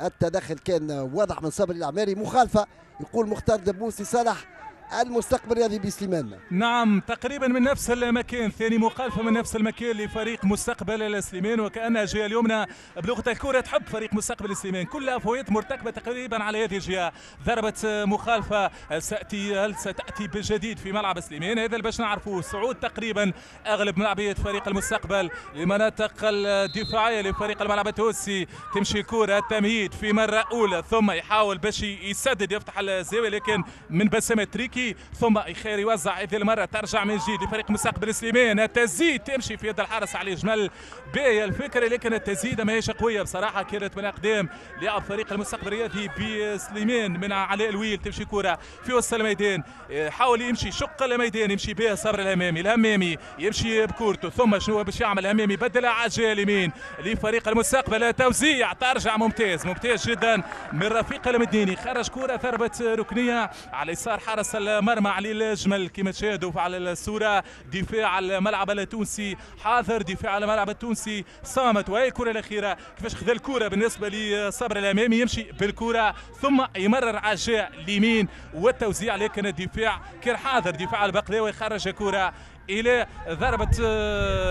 التدخل كان واضح من صبري العماري. مخالفة يقول مختار دبوس لصالح المستقبل الرياضي بسليمان. نعم تقريبا من نفس المكان، ثاني مخالفة من نفس المكان لفريق مستقبل سليمان، وكأنها الجهة اليمنى بلغه الكره تحب فريق مستقبل سليمان، كل افويات مرتكبه تقريبا على هذه الجهة. ضربه مخالفة ساتي، هل ستاتي بالجديد في ملعب سليمان؟ هذا اللي باش نعرفوه. صعود تقريبا اغلب ملاعبيه فريق المستقبل لمناطق الدفاعية لفريق الملعب التونسي. تمشي الكره التمهيد في مرة اولى، ثم يحاول باش يسدد يفتح الزاوية لكن من بسام تريكي، ثم خير يوزع هذه المرة، ترجع من جديد لفريق مستقبل سليمان. التسديد تمشي في يد الحارس علي جمل، باهيه الفكرة لكن التسديده ماهيش قوية بصراحة، كانت من اقدام لاعب فريق المستقبل الرياضي بسليمان من علاء الويل. تمشي كره في وسط الميدان، حاول يمشي شق الميدان، يمشي بها صبر الهمامي، الهمامي يمشي بكورته، ثم شنو باش يعمل الهمامي؟ بدلها على الجهة اليمين لفريق المستقبل، توزيع ترجع ممتاز ممتاز جدا من رفيق المديني، خرج كره ضربه ركنيه على يسار حارس المرمى علي الجمل كما تشاهدوا على الصورة. دفاع الملعب التونسي حاضر، دفاع الملعب التونسي صامت. وهي الكره الاخيرة كيفاش خذا الكره بالنسبة لصبر الامامي، يمشي بالكرة ثم يمرر على الجهة اليمين والتوزيع، لكن الدفاع كان حاضر، دفاع البقلاوي خرج كره الى ضربه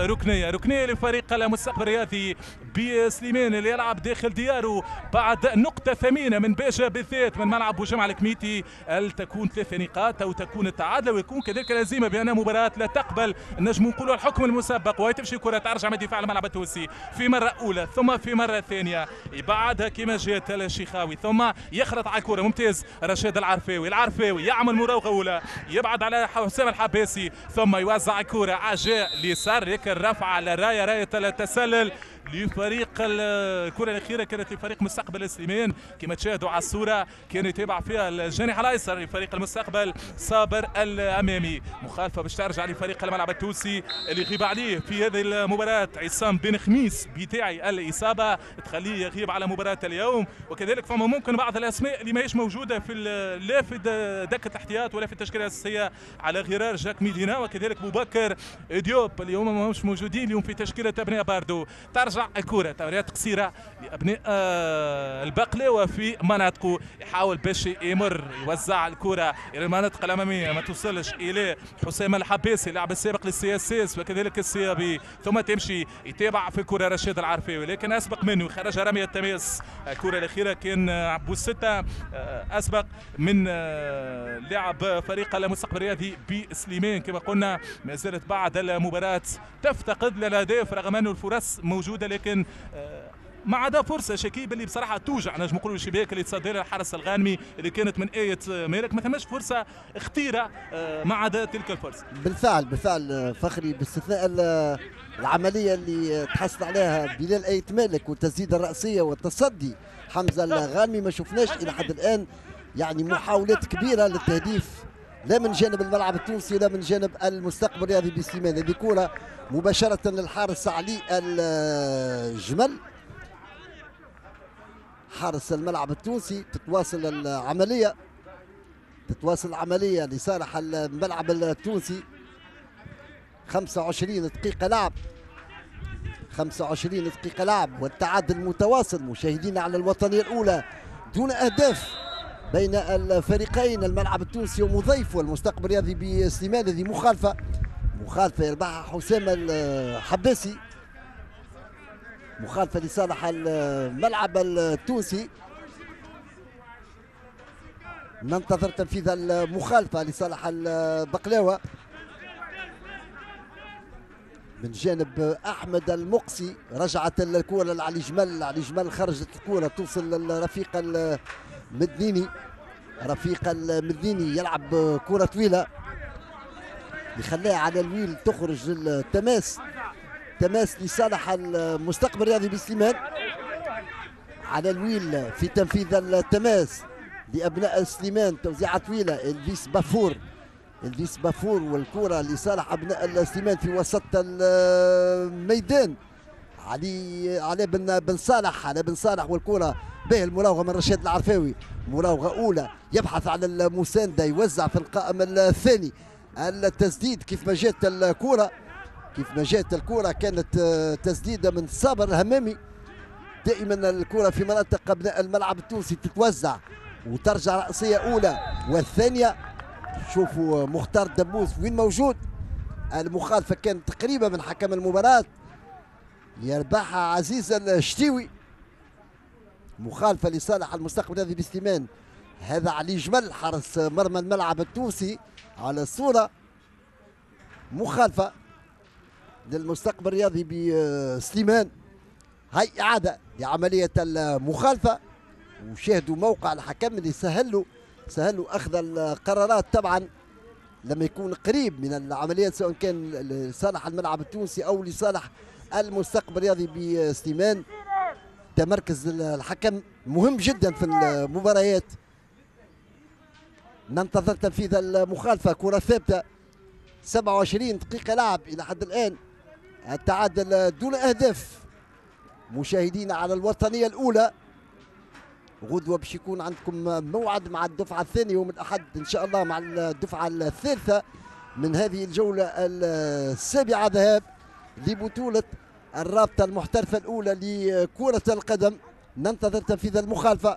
ركنيه، ركنيه لفريق المستقبل الرياضي بسليمان اللي يلعب داخل دياره بعد نقطة ثمينة من باجة بالذات من ملعب بوجمعة الكميتي. هل تكون ثلاث نقاط او تكون التعادل ويكون كذلك الهزيمة بان مباراة لا تقبل نجم نقولوا الحكم المسبق. وهي تمشي كره ترجع من دفاع الملعب التونسي في مرة اولى ثم في مرة ثانية، يبعدها كما جات الشيخاوي ثم يخرط على الكره ممتاز رشاد العرفاوي، العرفاوي يعمل مراوغه اولى يبعد على حسام الحباسي ثم يوزع كرة عجاء ليسار، لكن رفع على راية راية التسلل لفريق. الكرة الأخيرة كانت لفريق مستقبل سليمان كما تشاهدوا على الصورة، كان يتابع فيها الجانح الأيسر لفريق المستقبل صابر الأمامي. مخالفة باش ترجع لفريق الملعب التونسي اللي يغيب عليه في هذه المباراة عصام بن خميس بتاعي الإصابة تخليه يغيب على مباراة اليوم، وكذلك فما ممكن بعض الأسماء اللي ماهيش موجودة في لا في دكة الاحتياط ولا في التشكيلة الأساسية على غرار جاك ميدينا وكذلك بوبكر ديوب اليوم ماهمش موجودين اليوم في تشكيلة أبناء باردو. ترجع الكرة تمريرات قصيرة لأبناء البقلاوة في مناطقه، يحاول باش يمر يوزع الكرة إلى المناطق الأمامية ما توصلش إلى حسام الحباسي اللاعب السابق لل CSS وكذلك ال CAB، ثم تمشي يتابع في الكرة رشيد العرفاوي لكن أسبق منه خرج رمية التماس. الكرة الأخيرة كان عبو الستة أسبق من لاعب فريق المستقبل الرياضي بسليمان. كما قلنا ما زالت بعد المباراة تفتقد للأهداف رغم أن الفرص موجودة، لكن ما عدا فرصة شكيب اللي بصراحة توجع نجم نقولوا الشباك اللي تصدر الحرس الغانمي اللي كانت من ايه مالك، ما ثماش فرصة خطيرة ما عدا تلك الفرصة. بالفعل بالفعل فخري، باستثناء العملية اللي تحصل عليها بلال ايه مالك والتسديده الراسية والتصدي حمزة الغانمي، ما شفناش الى حد الان يعني محاولات كبيرة للتهديف لا من جانب الملعب التونسي لا من جانب المستقبل الرياضي بسليمان. هذه كره مباشرة للحارس علي الجمل حارس الملعب التونسي. تتواصل العملية تتواصل العملية لصالح الملعب التونسي. خمسة وعشرين دقيقة لعب، خمسة وعشرين دقيقة لعب والتعادل متواصل مشاهدينا على الوطنية الأولى دون أهداف بين الفريقين، الملعب التونسي ومضيفه المستقبل الرياضي بسليمان. هذه مخالفة مخالفة يربحها حسام الحباسي، مخالفة لصالح الملعب التونسي. ننتظر تنفيذ المخالفة لصالح البقلاوة من جانب أحمد المقصي. رجعت الكرة لعلي جمل، علي جمل خرجت الكرة توصل للرفيق المدنيني، رفيق المدنيني يلعب كرة طويلة يخليها على الويل تخرج للتماس، تماس لصالح المستقبل الرياضي بسليمان. على الويل في تنفيذ التماس لأبناء سليمان، توزيعة طويلة الفيس بافور، الفيس بافور والكرة لصالح أبناء سليمان في وسط الميدان. علي علي بن بن صالح، علي بن صالح والكرة به المراوغة من رشاد العرفاوي، مراوغة أولى يبحث على المساندة، يوزع في القائم الثاني. التسديد كيف ما جات الكرة، كيف ما جات الكرة كانت تسديدة من صابر الهمامي. دائما الكرة في مناطق أبناء الملعب التونسي تتوزع وترجع رأسية أولى والثانية. شوفوا مختار دبوس وين موجود. المخالفة كانت قريبة من حكم المباراة، يربحها عزيز الشتيوي. مخالفة لصالح المستقبل الرياضي بسليمان. هذا علي جمل حارس مرمى الملعب التونسي على الصورة. مخالفة للمستقبل الرياضي بسليمان. هاي إعادة لعملية المخالفة، وشاهدوا موقع الحكم اللي سهلوا سهلوا أخذ القرارات طبعا لما يكون قريب من العمليات، سواء كان لصالح الملعب التونسي أو لصالح المستقبل الرياضي بسليمان. تمركز الحكم مهم جدا في المباريات. ننتظر تنفيذ المخالفة، كرة ثابتة. سبعة وعشرين دقيقة لعب إلى حد الآن، التعادل دون أهداف. مشاهدينا على الوطنية الأولى، غدوة باش يكون عندكم موعد مع الدفعة الثانية يوم الأحد إن شاء الله مع الدفعة الثالثة من هذه الجولة السابعة ذهاب لبطولة الرابطة المحترفة الأولى لكرة القدم. ننتظر تنفيذ المخالفة.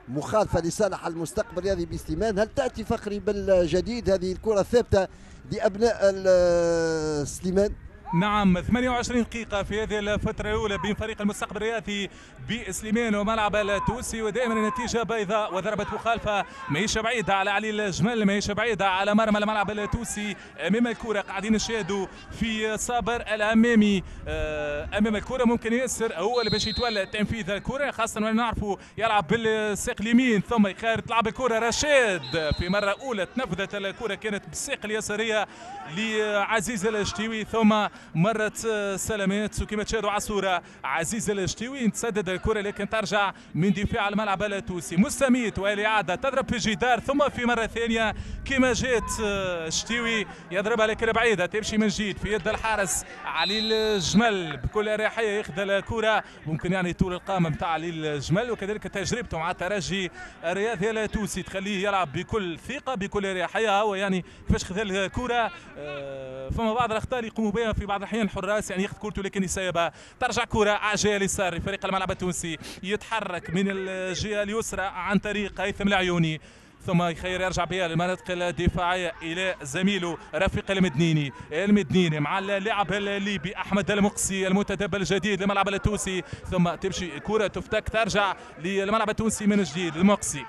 مخالفة لصالح المستقبل الرياضي بسليمان. هل تأتي فخري بالجديد هذه الكرة الثابتة لأبناء سليمان؟ نعم، ثمانية وعشرين دقيقة في هذه الفترة الأولى بين فريق المستقبل الرياضي بسليمان وملعب التونسي، ودائما النتيجة بيضاء وضربة مخالفة ماهيش بعيدة على علي الجمل، ماهيش بعيدة على مرمى الملعب التونسي. أمام الكرة قاعدين نشاهدوا في صابر الأمامي أمام الكرة، ممكن ياسر هو اللي باش يتولى تنفيذ الكرة، خاصة وأن نعرفوا يلعب بالساق اليمين ثم يخير تلعب الكرة رشاد في مرة أولى تنفذت الكرة كانت بالساق اليسارية لعزيز الشتيوي، ثم مرت سلامات. وكما تشاهدوا على الصورة عزيز الشتيوي تسدد الكرة لكن ترجع من دفاع الملعب التونسي. مستميت والإعادة تضرب في الجدار، ثم في مرة ثانية كما جات الشتيوي يضربها لكن بعيدة، تمشي من جديد في يد الحارس علي الجمل بكل أريحية ياخذ الكرة. ممكن يعني طول القامة نتاع علي الجمل وكذلك تجربته مع الترجي الرياضي التونسي تخليه يلعب بكل ثقة بكل أريحية. هو يعني كيفاش خذ الكرة، فما بعض الأخطاء اللي يقوموا بها في بعض الأحيان الحراس، يعني ياخذ كورته لكن يسيبها. ترجع كرة على الجهة اليسار لفريق الملعب التونسي، يتحرك من الجهة اليسرى عن طريق هيثم العيوني، ثم يخير يرجع بها للمناطق الدفاعية الى زميله رفيق المدنيني. المدنيني مع اللاعب الليبي احمد المقسي المنتدب الجديد للملعب التونسي، ثم تمشي كره تفتك ترجع للملعب التونسي من جديد. المقسي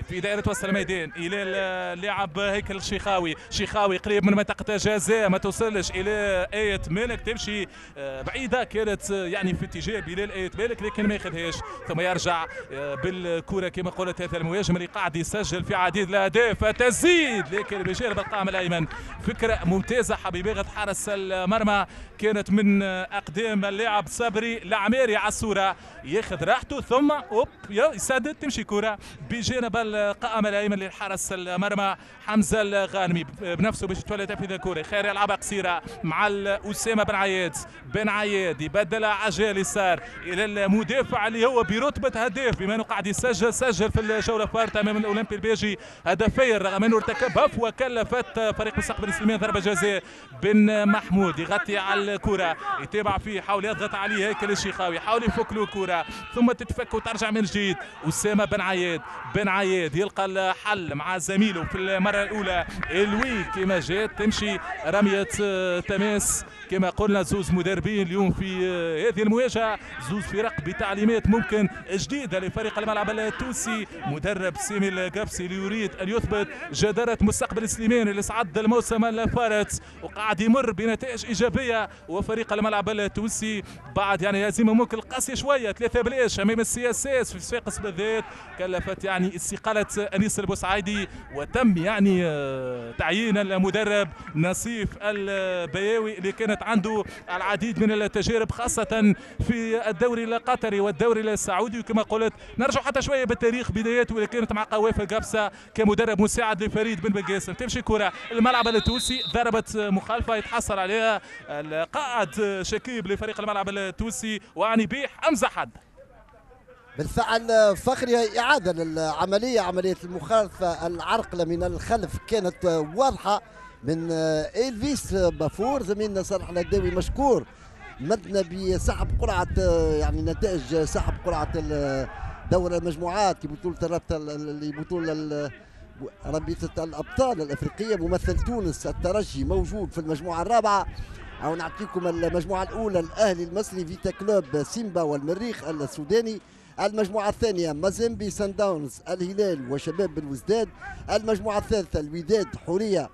في دائرة وسط الميدان الى اللاعب هيكل الشيخاوي، شيخاوي قريب من منطقة الجزاء ما توصلش الى ايه مالك، تمشي بعيدة كانت يعني في اتجاه بلال ايه مالك لكن ما ياخذهاش، ثم يرجع بالكرة كما قلت هذا المهاجم اللي قاعد يسجل في عديد الاهداف، تزيد لكن بجانب القائم الايمن. فكرة ممتازة حبيبي حارس المرمى كانت من اقدام اللاعب صبري العماري على الصورة، ياخذ راحته ثم اوب يسدد تمشي كره بجانب القائم الايمن للحارس المرمى حمزة الغانمي بنفسه باش يتولى تنفيذ الكره. خير يلعبها قصيرة مع اسامة بن عياد، بن عياد يبدلها على الجهة اليسار الى المدافع اللي هو برتبة هداف بما انه قاعد يسجل، سجل في الجولة الفارطه امام الاولمبي البيجي الترجي هدفين رغم انه ارتكب هفوة كلفت فريق مستقبل سليمان ضربه جزاء. بن محمود يغطي على الكره، يتابع فيه، حاول يضغط عليه هيكل الشيخاوي، حاول يفك له الكره ثم تتفك وترجع من جديد. اسامة بن عياد، بن عياد يلقى الحل مع زميله في المرة الاولى الوي كما جات تمشي رمية تماس. كما قلنا زوز مدربين اليوم في هذه المواجهة، زوز فرق بتعليمات ممكن جديدة لفريق الملعب التونسي. مدرب سامي القفصي اللي يريد ان يثبت جداره مستقبل سليمان اللي صعد الموسم الفارط وقاعد يمر بنتائج ايجابية، وفريق الملعب التونسي بعد يعني هزيمة ممكن قاسية شوية ثلاثة بلاش امام ال CSS في صفاقس بالذات كلفت يعني استقالة انيس البوسعيدي، وتم يعني تعيين المدرب نصيف البياوي اللي كانت عنده العديد من التجارب خاصة في الدوري القطري والدوري السعودي. وكما قلت نرجع حتى شوية بالتاريخ، بداياته اللي كانت مع قوافل قفصة كمدرب مساعد لفريد بن بقاسم. تمشي كرة الملعب التونسي، ضربت مخالفة يتحصل عليها القائد شكيب لفريق الملعب التونسي وعني بيه حمزة حد. بالفعل فخري، إعادة للعملية، عملية المخالفة العرقلة من الخلف كانت واضحة من إلفيس بافور. زميلنا صالح الهداوي مشكور مدنا بسحب قرعة، يعني نتائج سحب قرعة دور المجموعات لبطولة الرابطة لبطولة رابطة الأبطال الأفريقية. ممثل تونس الترجي موجود في المجموعة الرابعة، أو نعطيكم المجموعة الأولى الأهلي المصري، فيتا كلوب، سيمبا والمريخ السوداني. المجموعة الثانية مازيمبي، سان داونز، الهلال وشباب بلوزداد. المجموعة الثالثة الوداد، حورية،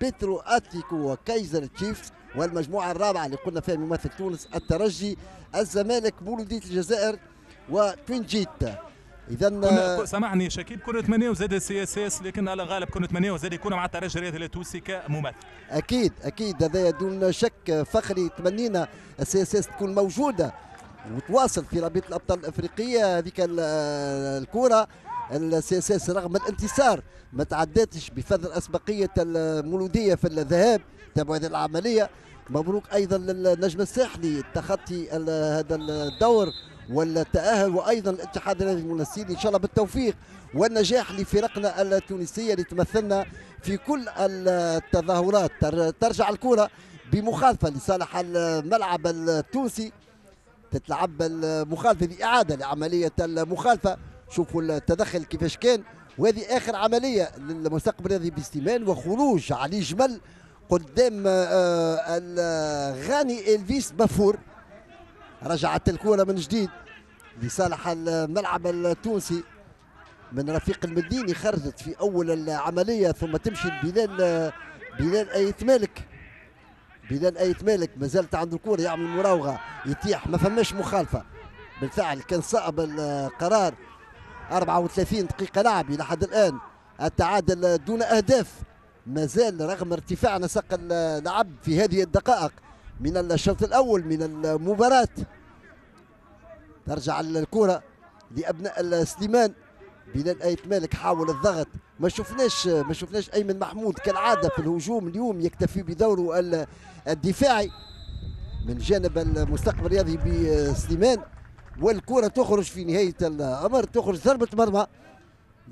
بيترو أتليكو وكايزر تشيفز. والمجموعة الرابعة اللي قلنا فيها ممثل تونس الترجي، الزمالك، مولودية الجزائر وتوينجيت. إذا سامحني شكيب، كنا نتمناو زاد ال CSS، لكن على الغالب كنا نتمناو زاد يكون مع الترجي الرياضي التونسي كممثل. أكيد أكيد هذا دون شك فخري، تمنينا ال CSS تكون موجودة وتواصل في رابطة الأبطال الأفريقية. هذيك الكرة ال CSS رغم الانتصار ما تعدتش بفضل أسبقية المولودية في الذهاب. تابعوا هذه العملية. مبروك أيضا للنجم الساحلي تخطي هذا الدور والتأهل، وأيضا الاتحاد الرياضي المنستيري. إن شاء الله بالتوفيق والنجاح لفرقنا التونسية اللي تمثلنا في كل التظاهرات. ترجع الكرة بمخالفة لصالح الملعب التونسي، تتلعب المخالفة بإعادة لعملية المخالفة. شوفوا التدخل كيفاش كان، وهذه آخر عملية للمستقبل الرياضي بسليمان وخروج علي جمل قدام الغاني إلفيس بافور. رجعت الكرة من جديد لصالح الملعب التونسي من رفيق المديني، خرجت في أول العملية ثم تمشي بلال بلال أيت مالك. بلال أيت مالك ما زالت عنده الكرة، يعمل مراوغة، يتيح، ما فماش مخالفة. بالفعل كان صعب القرار. أربعة وثلاثين دقيقة لعب إلى حد الآن، التعادل دون أهداف ما زال رغم ارتفاع نسق اللعب في هذه الدقائق من الشوط الأول من المباراة. ترجع الكرة لأبناء سليمان. بلال أيت مالك حاول الضغط، ما شفناش ما شفناش أيمن محمود كالعادة في الهجوم اليوم، يكتفي بدوره الدفاعي من جانب المستقبل الرياضي بسليمان. والكرة تخرج في نهاية الأمر، تخرج ضربة مرمى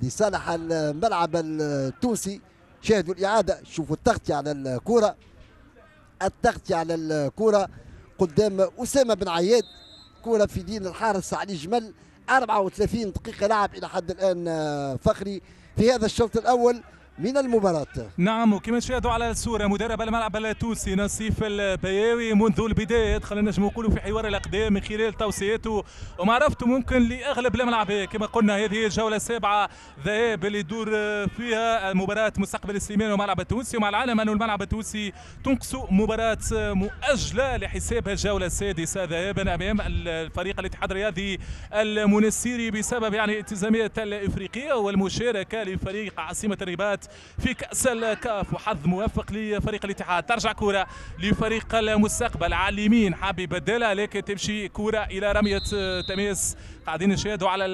لصالح الملعب التونسي. شاهدوا الإعادة، شوفوا التغطية على الكرة، التغطية على الكرة قدام أسامة بن عياد، كرة في دين الحارس علي جمل. أربعة وثلاثين دقيقة لعب إلى حد الآن فخري في هذا الشوط الأول من المباراة. نعم، وكما تشاهدوا على الصورة مدرب الملعب التونسي نصيف البياوي منذ البداية دخل نجم نقولوا في حوار الأقدام من خلال توصياته ومعرفته ممكن لأغلب الملعب. كما قلنا هذه الجولة السابعة ذهاب اللي يدور فيها مباراة مستقبل سليمان والملعب التونسي، ومع العلم أن الملعب التونسي تنقص مباراة مؤجلة لحساب الجولة السادسة ذهابا أمام الفريق الاتحاد الرياضي المنستيري بسبب يعني التزامات الإفريقية والمشاركة لفريق عاصمة الرباط المباريات في كأس الكاف، وحظ موفق لفريق الاتحاد. ترجع كرة لفريق المستقبل على اليمين، حاب يبدلها لكن تمشي كرة إلى رمية تماس. قاعدين نشاهدوا على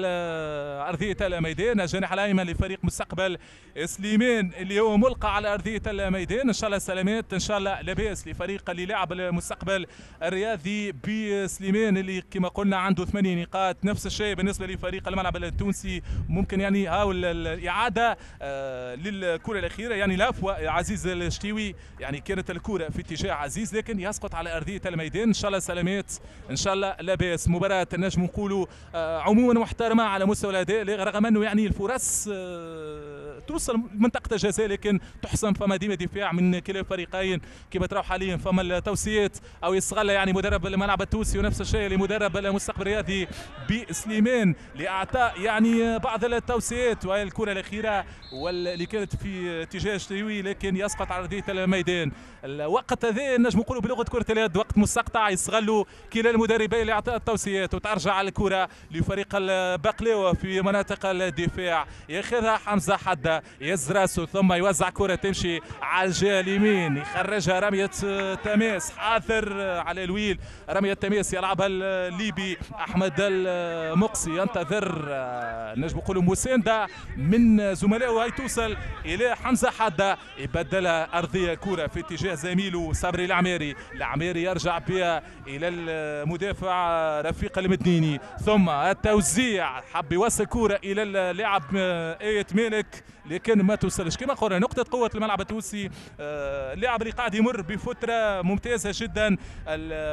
أرضية الميدان الجانح الأيمن لفريق مستقبل سليمان اللي هو ملقى على أرضية الميدان. إن شاء الله سلامات، إن شاء الله لاباس لفريق اللي لعب المستقبل الرياضي بسليمان اللي كما قلنا عنده ثمانية نقاط. نفس الشيء بالنسبة لفريق الملعب التونسي، ممكن يعني هاو الإعادة للكرة الأخيرة، يعني العفو عزيز الشتيوي، يعني كانت الكرة في اتجاه عزيز لكن يسقط على أرضية الميدان. إن شاء الله سلامات، إن شاء الله لاباس. مباراة نجم نقولوا عموما محترمة على مستوى الأداء، رغم أنه يعني الفرص توصل منطقة الجزاء لكن تحسم، فما ديما دفاع من كلا الفريقين كما تراو حاليا. فما التوصيات أو يستغل يعني مدرب الملعب التونسي، ونفس الشيء لمدرب المستقبل الرياضي بسليمان لإعطاء يعني بعض التوصيات. وهي الكرة الأخيرة واللي كانت في اتجاه شتيوي لكن يسقط على أرضية الميدان. الوقت هذا نجم نقولوا بلغة كرة اليد وقت مستقطع، يستغلوا كلا المدربين لإعطاء التوصيات. وترجع الكرة لفريق البقلاوة في مناطق الدفاع، ياخذها حمزة حدة، يهز راسه ثم يوزع كرة تمشي على الجهة اليمين، يخرجها رمية تماس، حاضر على الويل، رمية تماس يلعبها الليبي أحمد المقصي، ينتظر نجم نقولوا مساندة من زملائه، وهي توصل إلى حمزة حدة، يبدلها أرضية كرة في اتجاه زميله صبري العماري، العماري يرجع بها إلى المدافع رفيق المدنيني، ثم التوزيع حب يوصل كرة إلى اللاعب آية مالك لكن ما توصلش. كما قلنا نقطة قوة الملعب التونسي، اللاعب اللي قاعد يمر بفترة ممتازة جدا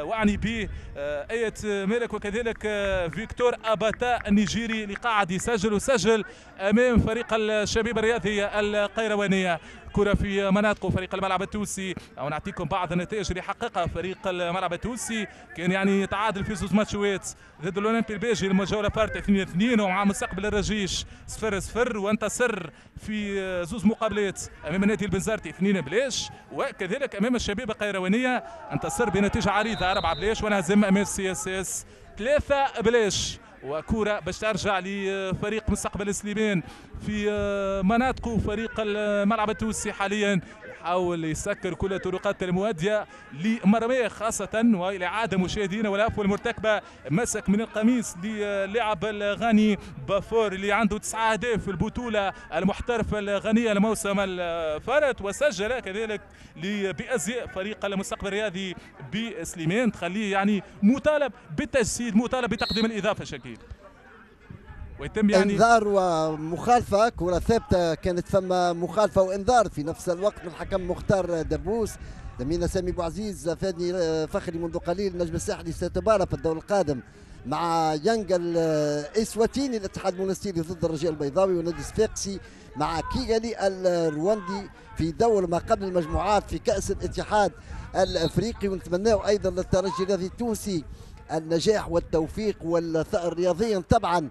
وأعني به آية مالك، وكذلك فيكتور أباتا النيجيري اللي قاعد يسجل وسجل أمام فريق الشبيبة الرياضية القيروانية. كرة في مناطقه فريق الملعب التونسي، أو نعطيكم بعض النتائج اللي حققها فريق الملعب التونسي. كان يعني تعادل في زوج ماتشات ضد الاولمبي الباجي الجولة فارت اثنين اثنين، ومع مستقبل الرجيش صفر صفر، وانتصر في زوج مقابلات امام النادي البنزرتي اثنين بلاش، وكذلك امام الشبيبة القيروانيه انتصر بنتيجة عريضة أربعة بلاش، وانهزم امام CSS ثلاثة بلاش. وكرة باش ترجع لفريق مستقبل سليمان في مناطقه فريق الملعب التونسي حاليا، يحاول يسكر كل الطرقات المؤدية لمرميه خاصة والإعادة مشاهدينا والعفو المرتكبة. مسك من القميص للاعب الغاني بافور اللي عنده تسعة أهداف في البطولة المحترفة الغانية الموسم الفارط، وسجل كذلك بأزياء فريق المستقبل الرياضي بسليمان، تخليه يعني مطالب بالتجسيد، مطالب بتقديم الإضافة شكيل. ويتم يعني انذار ومخالفه، كره ثابتة كانت فما مخالفة وانذار في نفس الوقت من الحكم مختار دبوس. زميلنا سامي بوعزيز فادني فخري منذ قليل، نجم الساحلي سيتبارى في الدور القادم مع يانغ الاسواتيني الاتحاد المونستيري ضد الرجاء البيضاوي، ونادي صفاقسي مع كيغالي الرواندي في دور ما قبل المجموعات في كأس الاتحاد الافريقي. ونتمناه ايضا للترجي الرياضي التونسي النجاح والتوفيق والثأر رياضيا طبعا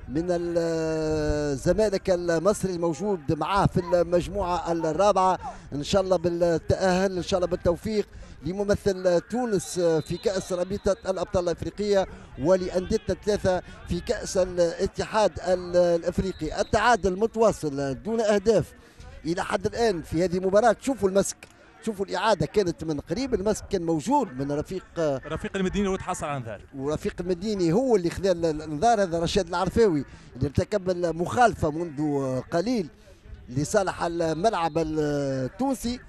من الزمالك المصري الموجود معاه في المجموعة الرابعة. إن شاء الله بالتأهل، إن شاء الله بالتوفيق لممثل تونس في كأس رابطة الأبطال الأفريقية ولأنديتنا الثلاثة في كأس الاتحاد الأفريقي. التعادل متواصل دون أهداف إلى حد الآن في هذه المباراة. شوفوا المسك، شوفوا الإعادة كانت من قريب، المسك كان موجود من رفيق رفيق المديني وتحصل على انذار، ورفيق المديني هو اللي خذا الانذار. هذا رشاد العرفاوي اللي ارتكب المخالفة منذ قليل لصالح الملعب التونسي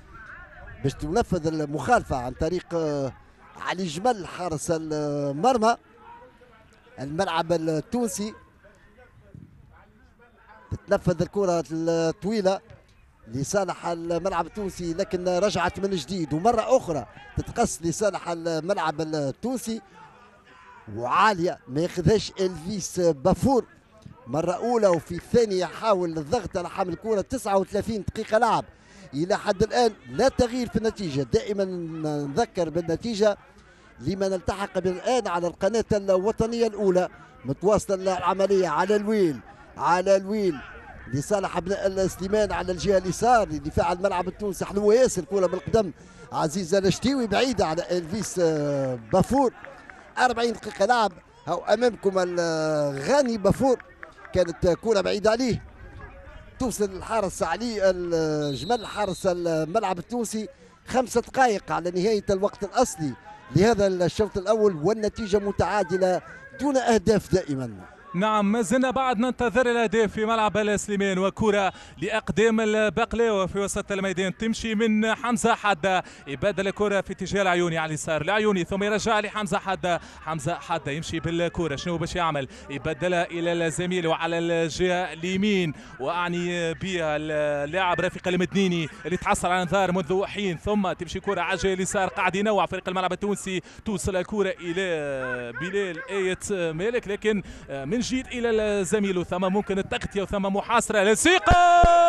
باش تنفذ المخالفة عن طريق علي جمل حارس المرمى الملعب التونسي. تتنفذ الكرة الطويلة لصالح الملعب التونسي لكن رجعت من جديد ومرة أخرى تتقص لصالح الملعب التونسي وعالية ما ياخذهاش إلفيس بافور مرة أولى، وفي الثانية حاول الضغط على حامل الكرة. تسعة وثلاثين دقيقة لعب إلى حد الآن لا تغيير في النتيجة. دائما نذكر بالنتيجة لمن التحق بالآن على القناة الوطنية الأولى. متواصلة العملية على الويل، على الويل لصالح ابناء سليمان على الجهة اليسار لدفاع الملعب التونسي. حلوة ياسر كره بالقدم عزيز الشتيوي بعيدة على الفيس بافور. أربعين دقيقة لعب، هاو امامكم الغاني بافور، كانت كره بعيدة عليه. توصل الحارس علي الجمل حارس الملعب التونسي. خمسة دقائق على نهاية الوقت الأصلي لهذا الشوط الأول والنتيجة متعادلة دون أهداف دائما. نعم ما زلنا بعد ننتظر الأهداف في ملعب السليمان، وكرة لأقدام البقلاوة في وسط الميدان تمشي من حمزة حدة، يبدل الكرة في اتجاه العيوني على اليسار، العيوني ثم يرجع لحمزة حدة، حمزة حدة يمشي بالكرة شنو باش يعمل؟ يبدلها إلى الزميل وعلى الجهة اليمين، وأعني بها اللاعب رفيق المدنيني اللي تحصل على انذار منذ حين، ثم تمشي كرة على الجهة اليسار، قاعد ينوع فريق الملعب التونسي، توصل الكرة إلى بلال آية مالك لكن من جيد الى الزميل، ثم ممكن التغطية وثم محاصرة لسيقه.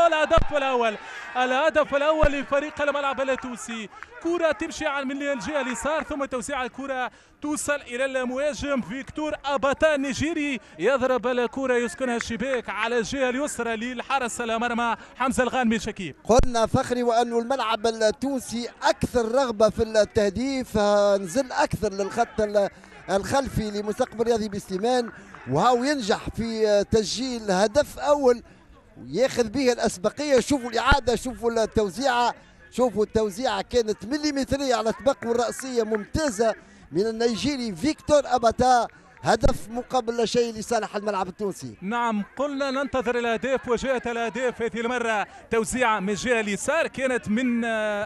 الهدف الاول، الهدف الاول لفريق الملعب التونسي، كره تمشي من الجهة اليسار ثم توزيع الكره توصل الى المهاجم فيكتور اباتا النيجيري، يضرب الكره يسكنها الشباك على الجهة اليسرى للحرس المرمى حمزة الغانمي. شكيب قلنا فخري وانه الملعب التونسي اكثر رغبة في التهديف، نزل اكثر للخط الخلفي لمستقبل رياضي بسليمان، وهاو ينجح في تسجيل هدف اول وياخذ به الاسبقيه. شوفوا الاعادة، شوفوا التوزيعه، شوفوا التوزيعه كانت مليمتريه على طبق والراسيه ممتازة من النيجيري فيكتور اباتا، هدف مقابل لا شيء لصالح الملعب التونسي. نعم قلنا ننتظر الاهداف وجاءت الاهداف هذه المرة، توزيعه من الجهة اليسار كانت من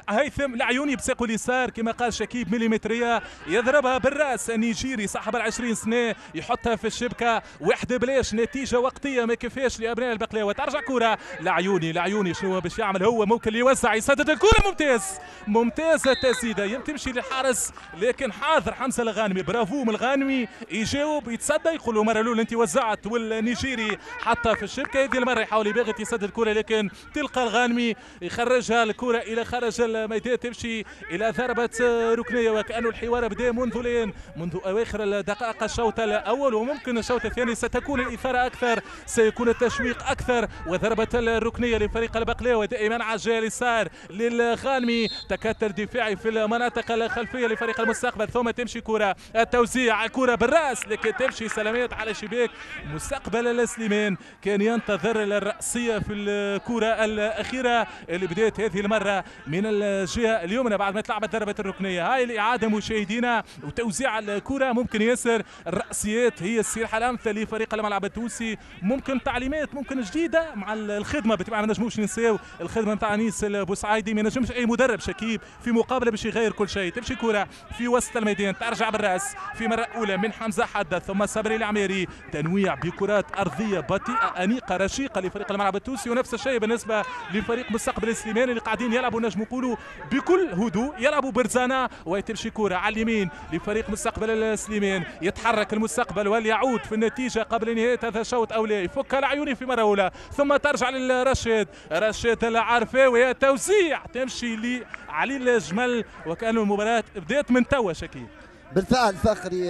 هيثم العيوني بساقه اليسار كما قال شكيب مليمتريه، يضربها بالراس النيجيري صاحب العشرين سنة يحطها في الشبكة، واحدة بلاش، نتيجة وقتية ما كفاش لابناء البقلاوه. ترجع كره العيوني، العيوني شنو باش يعمل هو؟ ممكن يوزع يسدد الكره، ممتاز ممتازة التسديده تمشي للحارس لكن حاضر حمزة الغانمي، برافو من الغانمي يجاوب يتصدى، يقول له مرة الاولى انت وزعت والنيجيري حطها في الشبكة، هذه المرة يحاول يباغت يسدد الكره لكن تلقى الغانمي يخرجها الكره الى خارج الميدان، تمشي الى ضربه ركنيه، وكانه الحوار بدا منذ الان، منذ اواخر الدقائق الشوط الاول، وممكن الشوط الثاني ستكون الاثارة اكثر، سيكون التشويق اكثر. وضربه الركنيه لفريق البقلاوه دائما على الجهة اليسار للغانمي، تكتل دفاعي في المناطق الخلفية لفريق المستقبل، ثم تمشي كره التوزيع، الكره بالراس لكن تمشي سلامات على شباك مستقبل السليمان، كان ينتظر الرأسية في الكرة الأخيرة اللي بدأت هذه المرة من الجهة اليمنى بعد ما تلعبت ضربة الركنية. هاي الإعادة مشاهدينا وتوزيع الكرة، ممكن ياسر الرأسيات هي السلاح الأمثل لفريق الملعب التونسي، ممكن تعليمات ممكن جديدة مع الخدمة بالطبيعة، ما نجموش ننساو الخدمة نتاع أنيس البوسعيدي، ما نجمش أي مدرب شكيب في مقابلة باش يغير كل شيء. تمشي كرة في وسط الميدان، ترجع بالرأس في مرة أولى من حمزة حدة ثم صبري العميري، تنويع بكرات أرضية بطيئة أنيقة رشيقة لفريق الملعب التونسي، ونفس الشيء بالنسبة لفريق مستقبل السليماني اللي قاعدين يلعبوا نجم نقولوا بكل هدوء، يلعبوا برزانة. وتمشي كرة على اليمين لفريق مستقبل السليمان، يتحرك المستقبل وليعود في النتيجة قبل نهاية هذا الشوط أو لا، يفك العيوني في مرة أولى ثم ترجع للرشيد، رشيد العرفاوي، توزيع تمشي لعلي الجمل، وكأن المباراة بدأت من توا شكيب. بالفعل فخري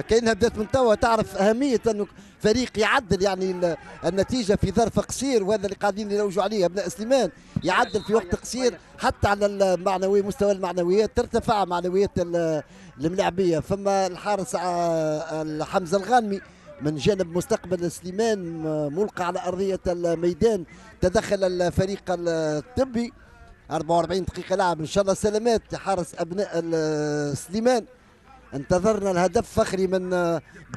كأنها بدأت من توا، تعرف أهمية أنه فريق يعدل يعني النتيجة في ظرف قصير، وهذا اللي قاعدين يروجوا عليه أبناء سليمان، يعدل في وقت قصير حتى على المعنوي، مستوى المعنويات ترتفع معنويات الملاعبية. فما الحارس حمزة الغانمي من جانب مستقبل سليمان ملقى على أرضية الميدان، تدخل الفريق الطبي. أربعة وأربعين دقيقة لعب، إن شاء الله سلامات حارس أبناء سليمان. انتظرنا الهدف فخري من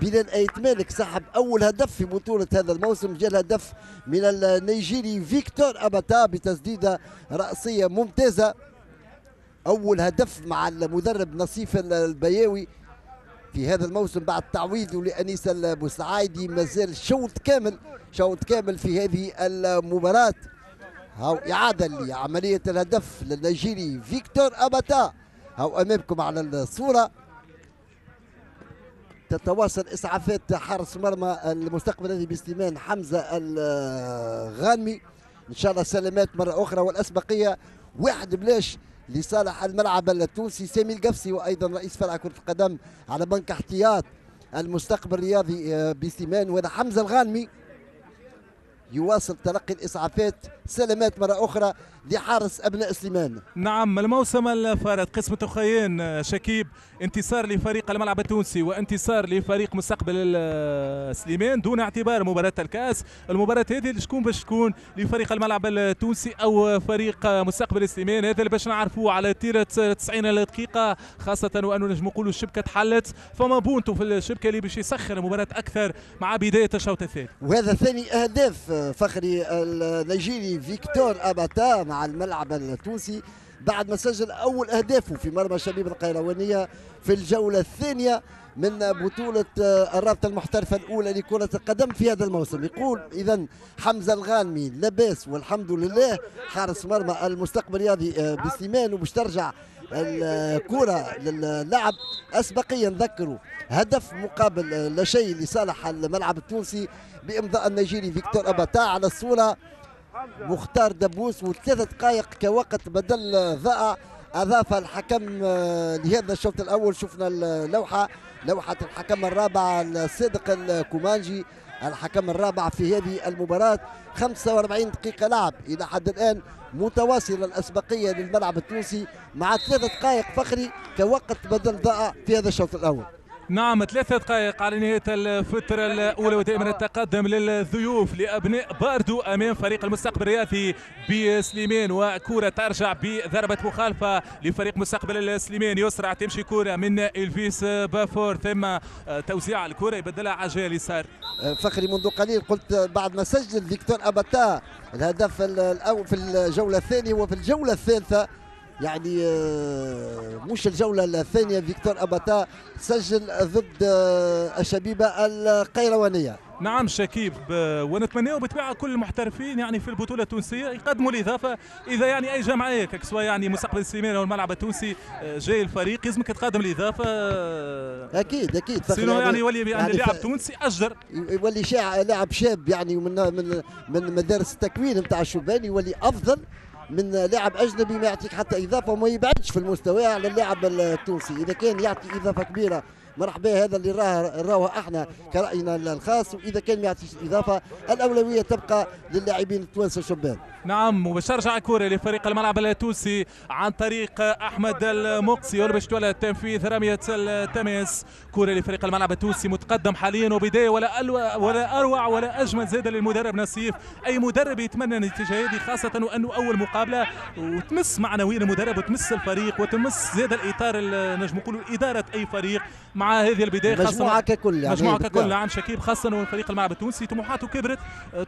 بلال آيت مالك، سحب أول هدف في بطولة هذا الموسم، جاء الهدف من النيجيري فيكتور أباتا بتسديدة رأسية ممتازة، أول هدف مع المدرب نصيف البياوي في هذا الموسم بعد تعويضه لأنيس البوسعايدي. مازال شوط كامل، شوط كامل في هذه المباراة. هاو إعادة لعملية الهدف للنيجيري فيكتور أباتا، هاو أمامكم على الصورة. تتواصل إسعافات حارس مرمى المستقبل الذي بسليمان حمزة الغانمي، إن شاء الله سلامات مرة أخرى، والأسبقية واحد بلاش لصالح الملعب التونسي. سامي القفصي وأيضا رئيس فرع كرة القدم على بنك احتياط المستقبل الرياضي بسليمان، وهذا حمزة الغانمي. يواصل تلقي الإسعافات. سلامات مرة أخرى لحارس أبناء سليمان. نعم، الموسم الفارط قسمة أخيين شكيب، انتصار لفريق الملعب التونسي وانتصار لفريق مستقبل سليمان دون اعتبار مباراة الكأس. المباراة هذه شكون باش تكون لفريق الملعب التونسي أو فريق مستقبل سليمان، هذا اللي باش نعرفوه على طيلة تسعين دقيقة، خاصة وأنه نجم نقولوا الشبكة تحلت، فما بونتو في الشبكة اللي باش يسخر المباراة أكثر مع بداية الشوط الثاني. وهذا ثاني أهداف فخري النيجيري فيكتور أباتا مع الملعب التونسي بعد ما سجل أول أهدافه في مرمى شبيب القيروانية في الجولة الثانية من بطولة الرابطة المحترفة الأولى لكرة القدم في هذا الموسم. يقول إذن حمزة الغانمي لاباس والحمد لله، حارس مرمى المستقبل الرياضي بسليمان، وباش ترجع الكرة للعب أسبقيا. نذكروا هدف مقابل لا شيء لصالح الملعب التونسي بإمضاء النيجيري فيكتور أباتا. على الصورة مختار دبوس، وثلاث دقائق كوقت بدل ضائع أضاف الحكم لهذا الشوط الأول. شفنا اللوحة، لوحة الحكم الرابع الصادق الكومانجي، الحكم الرابع في هذه المباراة. خمسة وأربعين دقيقة لعب إلى حد الآن، متواصلة الأسبقية للملعب التونسي مع ثلاث دقائق فخري كوقت بدل ضائع في هذا الشوط الأول. نعم، ثلاثة دقائق على نهاية الفترة الأولى، ودائما التقدم للضيوف لأبناء باردو أمام فريق المستقبل الرياضي بسليمان، وكرة ترجع بضربة مخالفة لفريق مستقبل سليمان. يسرع تمشي كرة من إلفيس بافور، ثم توزيع الكرة يبدلها عجال اليسار. فخري منذ قليل قلت بعد ما سجل فيكتور أباتا الهدف الأول في الجولة الثانية وفي الجولة الثالثة، يعني مش الجولة الثانية، فيكتور أباتا سجل ضد الشبيبة القيروانية. نعم شكيب، ونتمناه بالطبيعة كل المحترفين يعني في البطولة التونسية يقدموا الإضافة. إذا يعني أي جمعية سواء يعني مستقبل سليمان أو الملعب التونسي جاي الفريق لازمك تقدم الإضافة. أكيد أكيد، sinon يعني يولي يعني لاعب تونسي أجدر، يولي لاعب شاب يعني من من من مدارس التكوين نتاع الشبان، يولي أفضل من لاعب اجنبي ما يعطيك حتى اضافه وما يبعدش في المستوى على اللاعب التونسي. اذا كان يعطي اضافه كبيرة مرحبا، هذا اللي راه راه احنا كراينا الخاص، واذا كان ما يعطيش اضافه الاولوية تبقى للاعبين التوانسة الشبان. نعم، وباش ترجع الكره لفريق الملعب التونسي عن طريق احمد المقصي، باش تولى تنفيذ رمية التماس. كره لفريق الملعب التونسي متقدم حاليا، وبداية ولا ولا اروع ولا اجمل زاد للمدرب نصيف. اي مدرب يتمنى النتيجة هذه، خاصة وانه اول مقابله وتمس معنويا المدرب وتمس الفريق وتمس زاد الاطار، نجم نقولوا ادارة اي فريق مع هذه البداية، خاصة مجموعة ككل يعني مجموعة ككل. نعم شكيب، خاصة وفريق الملعب التونسي طموحاته كبرت،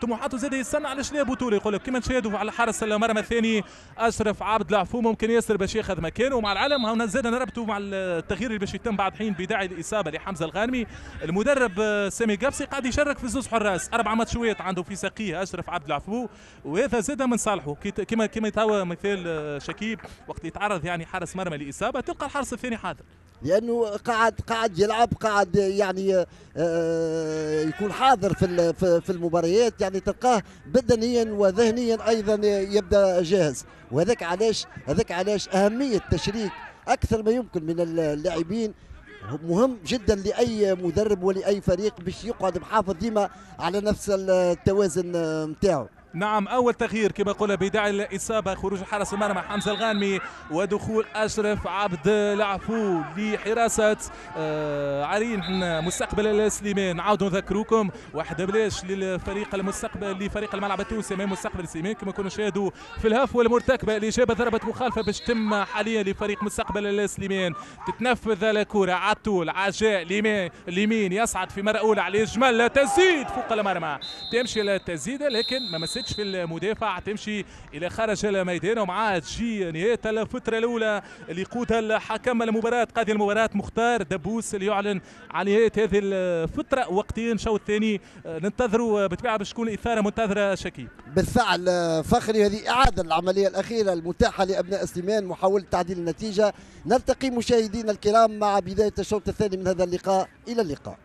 طموحاته زاد يستنى علاش لا بطوله. يقول لك كما نشاهدوا على حارس المرمى الثاني اشرف عبد العفو ممكن ياسر باش ياخذ مكانه. مع العلم هنا زاد نربطوا مع التغيير اللي باش يتم بعد حين بداعي الاصابة لحمزة الغانمي. المدرب سامي قابسي قاعد يشارك في زوز حراس، اربع ماتشوات عنده في ساقيه اشرف عبد العفو، وهذا زاد من صالحه. كما كما توا مثال شكيب وقت يتعرض يعني حارس مرمى لاصابة تلقى الحارس الثاني حاضر، لانه قاعد قاعد يلعب، قاعد يعني يكون حاضر في في المباريات، يعني تلقاه بدنيا وذهنيا ايضا يبدا جاهز. وهذاك علاش هذاك علاش اهمية تشريك اكثر ما يمكن من اللاعبين مهم جدا لاي مدرب ولاي فريق باش يقعد محافظ ديما على نفس التوازن نتاعو. نعم، أول تغيير كما قلنا بداعي الإصابة، خروج حارس المرمى حمزة الغانمي ودخول أشرف عبد العفو لحراسة عرين مستقبل سليمان. نعاودوا نذكروكم واحد بلاش للفريق المستقبل لفريق الملعب التونسي أمام مستقبل سليمان، كما كنا نشاهدوا في الهفوة المرتكبة اللي جابت ضربة مخالفة باش تم حاليا لفريق مستقبل سليمان. تتنفذ الكرة على طول، عجاء اليمين اليمين يصعد في مرة أولى على الجمل، تزيد فوق المرمى، تمشي للتزيدة لكن ما مستش في المدافع، تمشي الى خارج الميدان. ومعها تجي نهاية الفترة الاولى اللي يقودها الحكم المباراة، قاضي المباراة مختار دبوس اللي يعلن عن نهاية هذه الفترة. وقتين الشوط الثاني ننتظروا بالطبيعة باش تكون اثاره منتظره شكيب. بالفعل فخري، هذه اعاده العملية الاخيرة المتاحة لابناء سليمان، محاولة تعديل النتيجة. نلتقي مشاهدينا الكرام مع بداية الشوط الثاني من هذا اللقاء، الى اللقاء.